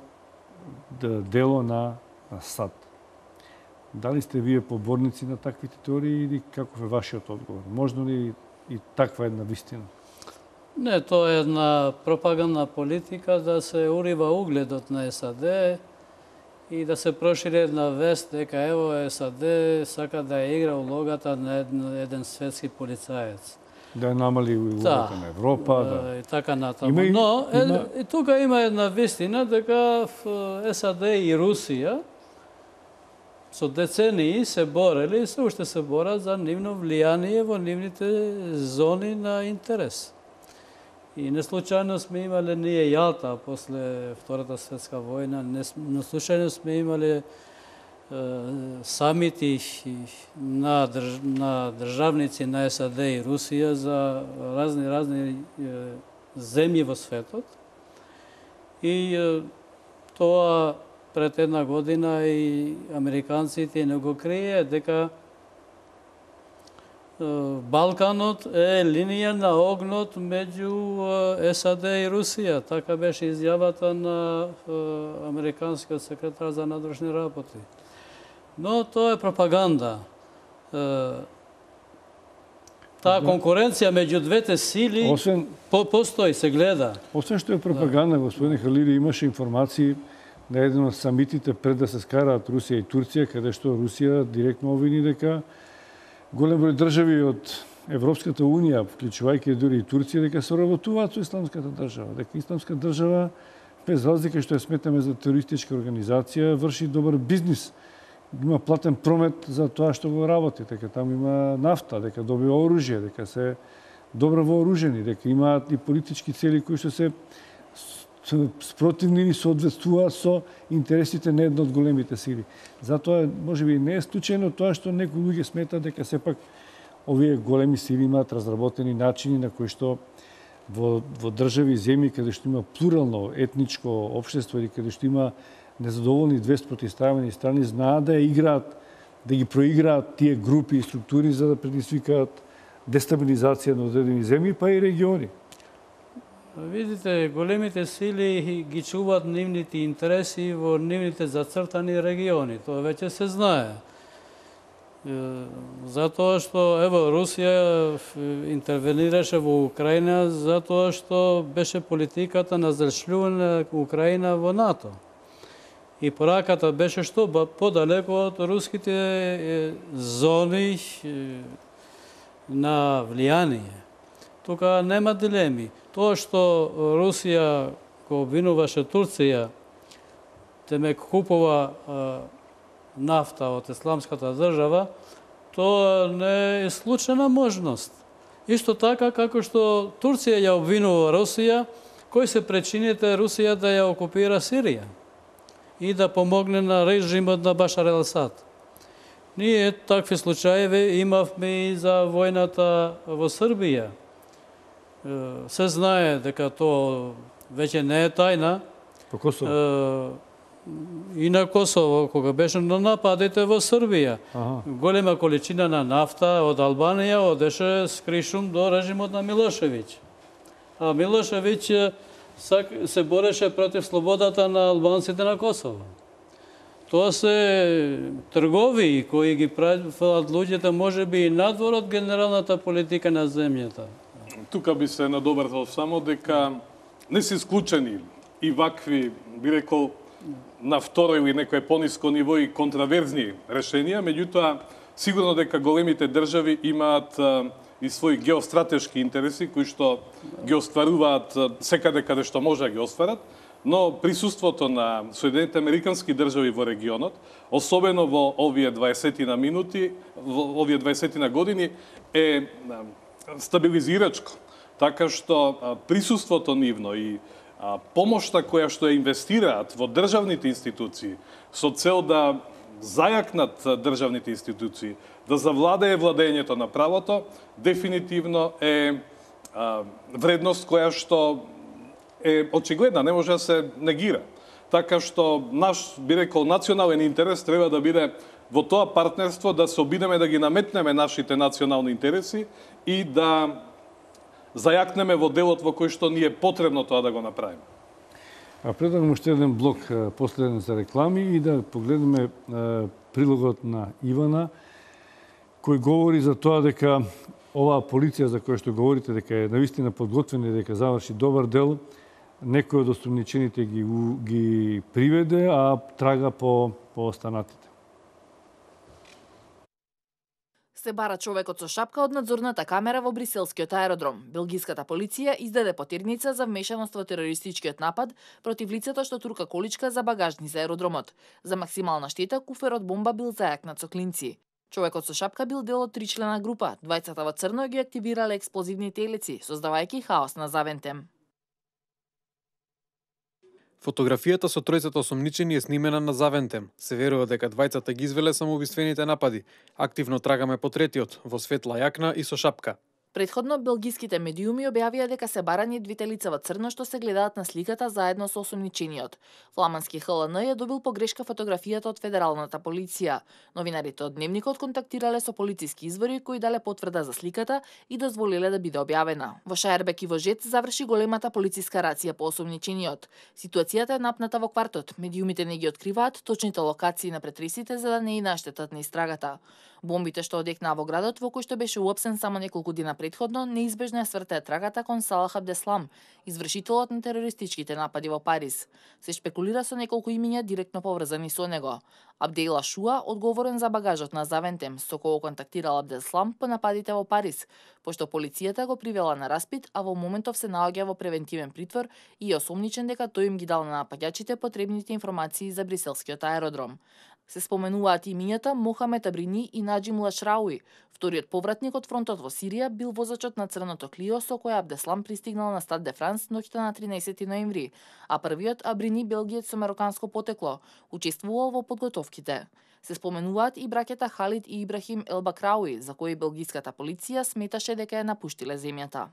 дело на САД. Дали сте вие поборници на таквите теории или каков е вашиот одговор? Можно ли и таква една вистина? Не, тоа е една пропагандна политика да се урива угледот на САД и да се прошири една вест дека ево САД сака да игра улогата на еден светски полицаец. Да намали улогата на Европа. Да. И така натаму. Но и тука има една вистина дека САД и Русија со децении се борели и се уште се борат за нивно влијание во нивните зони на интерес. И не случајно сме имале ние Јалта после Втората светска војна, не случајно сме имале самити на државници на САД и Русија за разни земји во светот. И тоа пред една година и американците не го крие дека Балканот е линија на огнот меѓу САД и Русија. Така беше изјавата на американскиот секретар за надворешни работи. Но тоа е пропаганда. Таа конкуренција меѓу двете сили постои, се гледа. Освен што е пропаганда, господине Халили, имаше информации на еден од самитите пред да се скараат Русија и Турција, каде што Русија директно обвини дека голем број држави од Европската Унија, вклучувајќи дури и Турција, дека се работуваат со исламската држава. Дека исламска држава, без разлика што ја сметаме за терористичка организација, врши добар бизнис. Има платен промет за тоа што го работи, дека таму има нафта, дека добива оружје, дека се добро вооружени, дека имаат и политички цели кои што се спротивни или соодветствуваат со интересите на една од големите сили. Затоа, можеби, не е случајно тоа што некои луѓе сметат дека сепак овие големи сили имаат разработени начини на кои што во држави и земји каде што има плурално етничко општество или каде што има незадоволни две спротивставени страни, знаат да ја играат, да ги проиграат тие групи и структури за да предизвикаат дестабилизација на одредени земји, па и региони. Видите, големите сили ги чуваат нивните интереси во нивните зацртани региони. Тоа веќе се знае. Затоа што, ево, Русија интервенираше во Украина затоа што беше политиката на зашљување Украина во НАТО. И пораката беше што подалеку од руските зони на влијание. Тука нема дилеми. Тоа што Русија го обвинуваше Турција, темек купува нафта од исламската држава, тоа не е случајна можност. Исто така како што Турција ја обвинува Русија, кои се причините Русија да ја окупира Сирија. и да помогне на режимот на Башар ел-Асад. Ние такви случаи имавме и за војната во Србија. Се знае дека тоа веќе не е тајна. По Косово? И на Косово, кога беше на нападите во Србија. Голема количина на нафта од Албанија одеше скришум до режимот на Милошевиќ. А Милошевиќ се бореше против слободата на албанците на Косово. Тоа се тргови кои ги прават луѓето можеби и надвор од генералната политика на земјата. Тука би се надобрзал само дека не се исклучени и вакви, би рекол, на второ или некое пониско ниво и контраверзни решенија, меѓутоа сигурно дека големите држави имаат и своји геостратешки интереси кои што ги остваруваат секаде каде што може да ги остварат, но присуството на Соединените Американски држави во регионот, особено во овие 20 минути, во овие 20 години е стабилизирачко, така што присуството нивно и помошта која што ја инвестираат во државните институции со цел да зајакнат државните институции, да завладее владењето на правото, дефинитивно е вредност која што е очигледна, не може да се негира. Така што наш, би рекол, национален интерес треба да биде во тоа партнерство да се обидеме да ги наметнеме нашите национални интереси и да зајакнеме во делот во кој што ни е потребно тоа да го направиме. Предлагам уште еден блок последен за реклами и да погледнеме прилогот на Ивана, кој говори за тоа дека оваа полиција за која што говорите дека е навистина подготвена и дека заврши добар дел, некој од осумничените ги приведе, а трага по останатите. Се бара човекот со шапка од надзорната камера во бриселскиот аеродром. Белгиската полиција издаде потирница за вмешаност во терористичкиот напад против лицето што турка количка за багажни за аеродромот. За максимална штета, куферот бомба бил зајакнат со клинци. Човекот со шапка бил дел од 3-члена група. Двајцата во црно ги активирале експлозивни телеци, создавајќи хаос на Завентем. Фотографијата со тројцата осомничени е снимена на Завентем. Се верува дека двајцата ги извеле самоубиствените напади. Активно трагаме по третиот, во светла јакна и со шапка. Предходно, белгиските медиуми објавија дека се барани двете лица во црно што се гледаат на сликата заедно со осомничениот. Фламански ХЛН ја добил погрешка фотографијата од федералната полиција. Новинарите од Дневникот контактирале со полициски извори кои дале потврда за сликата и дозволиле да биде објавена. Во Шаербек и во Жет заврши големата полициска рација по осомничениот. Ситуацијата е напната во квартот. Медиумите не ги откриваат точните локации на претресите за да не и наштетат на истрагата. Бомбите што одекнаа во градот во кој што беше уапсен само неколку дена предходно, неизбежно ја свртеа трагата кон Салах Абдеслам, извршителот на терористичките напади во Париз. Се шпекулира со неколку имиња директно поврзани со него. Абдейла Шуа, одговорен за багажот на Завентем, со кој контактирал Абдеслам по нападите во Париз, пошто полицијата го привела на распит, а во моментов се наоѓа во превентивен притвор и е осомничен дека тој им ги дал на напаѓачите потребните информации за бриселскиот аеродром. Се споменуваат имињата Мохамед Абрини и Наджим Лашрауи. Вториот повратник од фронтот во Сирија бил возачот на црното Клио со кој Абдеслам пристигнал на Стад де Франс ноќта на 13 ноември, а првиот Абрини белгиец со мароканско потекло, учествувал во подготовките. Се споменуваат и браќата Халид и Ибрахим Елбакрауи, за кои белгиската полиција сметаше дека ја напуштиле земјата.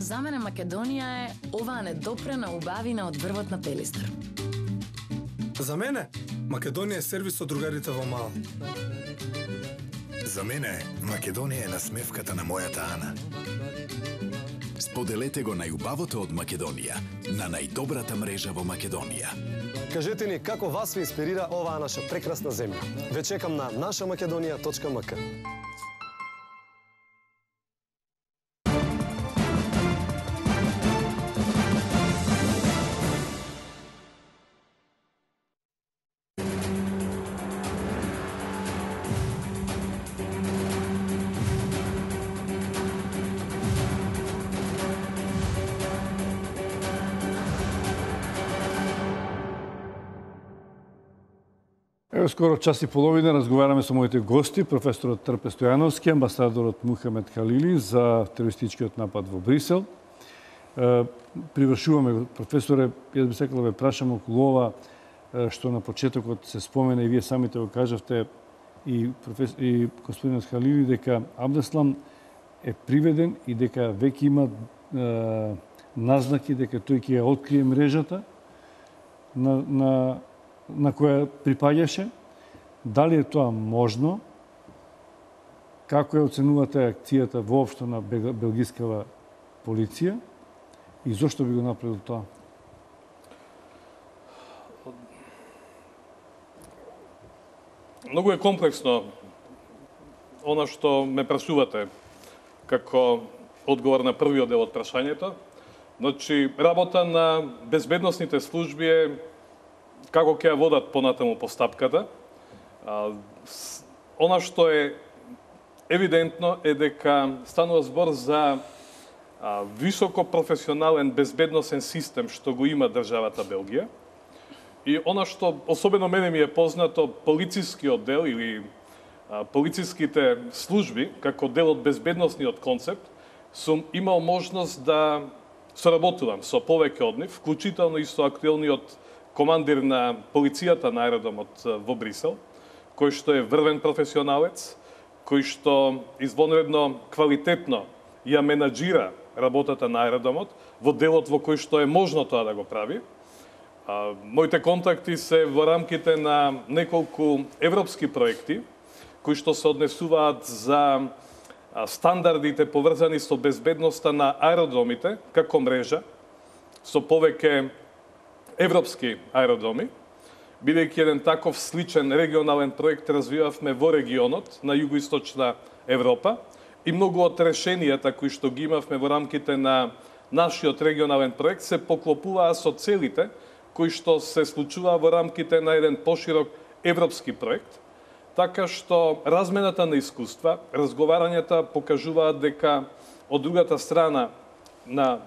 За мене Македонија е оваа недопрена убавина од дрвот на Пелистер. За мене Македонија е сервис од другарите во Мал. За мене Македонија е насмевката на мојата Ана. Споделете го најубавото од Македонија на најдобрата мрежа во Македонија. Кажете ни како вас ви инспирира оваа наша прекрасна земја. Ве чекам на нашamakedonia.mk. Ево, скоро час и половина разговараме со моите гости, професорот Трпе Стојановски, амбасадорот Мухамед Халили за терористичкиот напад во Брисел. Привршуваме, професоре, јас би сакал да ве прашам околу ова што на почетокот се спомена и вие самите го кажавте и господинот Халили дека Абдеслам е приведен и дека веќе има назнаки дека тој ќе ја открие мрежата на која припаѓаше. Дали е тоа можно? Како ја оценувате акцијата воопшто на белгискава полиција и зошто би го направил тоа? Многу е комплексно она што ме прашувате како одговор на првиот дел од прашањето. Значи, работа на безбедносните служби е како ќе ја водат понатаму постапката. Она што е евидентно е дека станува збор за високо професионален безбедносен систем што го има државата Белгија. И она што особено мене ми е познато, полицискиот дел или полициските служби, како дел од безбедносниот концепт, сум имал можност да соработувам со повеќе од нив, вклучително и со актуелниот командир на полицијата на аеродромот во Брисел, кој што е врвен професионалец, кој што извонредно квалитетно ја менаџира работата на аеродромот во делот во кој што е можно тоа да го прави. Моите контакти се во рамките на неколку европски проекти, кои што се однесуваат за стандардите поврзани со безбедноста на аеродромите како мрежа, со повеќе европски аеродроми. Бидејќи еден таков сличен регионален проект развивавме во регионот на југоисточна Европа и многу од решенијата кои што ги имавме во рамките на нашиот регионален проект се поклопуваа со целите кои што се случува во рамките на еден поширок европски проект, така што размената на искуства, разговарањата покажуваат дека од другата страна на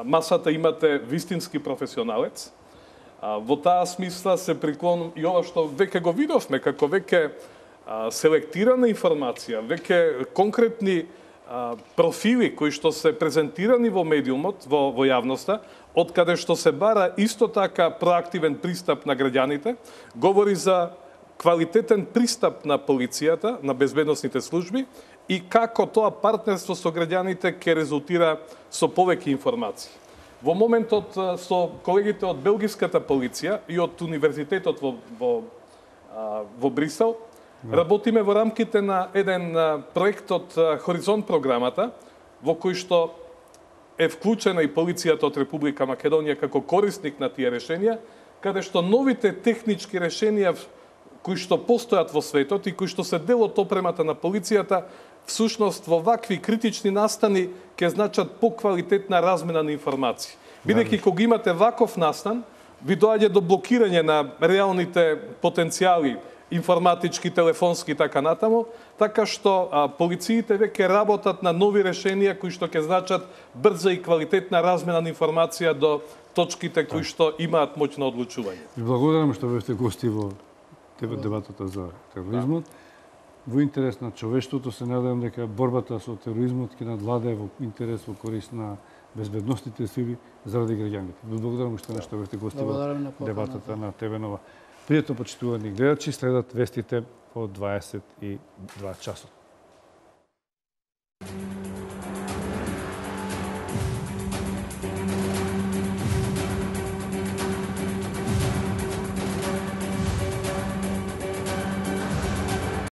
масата имате вистински професионалец. Во таа смисла се приклонувам и ова што веќе го видовме, како веќе селектирана информација, веќе конкретни профили кои што се презентирани во медиумот, во јавноста, од каде што се бара исто така проактивен пристап на граѓаните, говори за квалитетен пристап на полицијата, на безбедносните служби и како тоа партнерство со граѓаните ќе резултира со повеќе информации. Во моментот со колегите од белгиската полиција и од универзитетот во Брисел, работиме во рамките на еден проект од Хоризонт програмата, во кој што е вклучена и полицијата од Република Македонија како корисник на тие решенија, каде што новите технички решенија кои што постојат во светот и кои што се дел од опремата на полицијата, всушност во вакви критични настани ќе значат поквалитетна размена на информации. Бидејќи кога имате ваков настан, ви доаѓа до блокирање на реалните потенцијали информатички, телефонски и така натаму, така што полициите веќе работат на нови решенија кои што ќе значат брза и квалитетна размена на информација до точките кои што имаат моќ на одлучување. Ви благодарам што бевте гости во дебатата за тероризмот. Во интерес на човештвото се надевам дека борбата со тероризмот ќе надвладее во интерес во корист на безбедносните сили заради граѓаните. Ви благодарам што бевте гости во дебатата на ТВ Нова. Пријатно почитувани гледачи, следат вестите во 22 часот.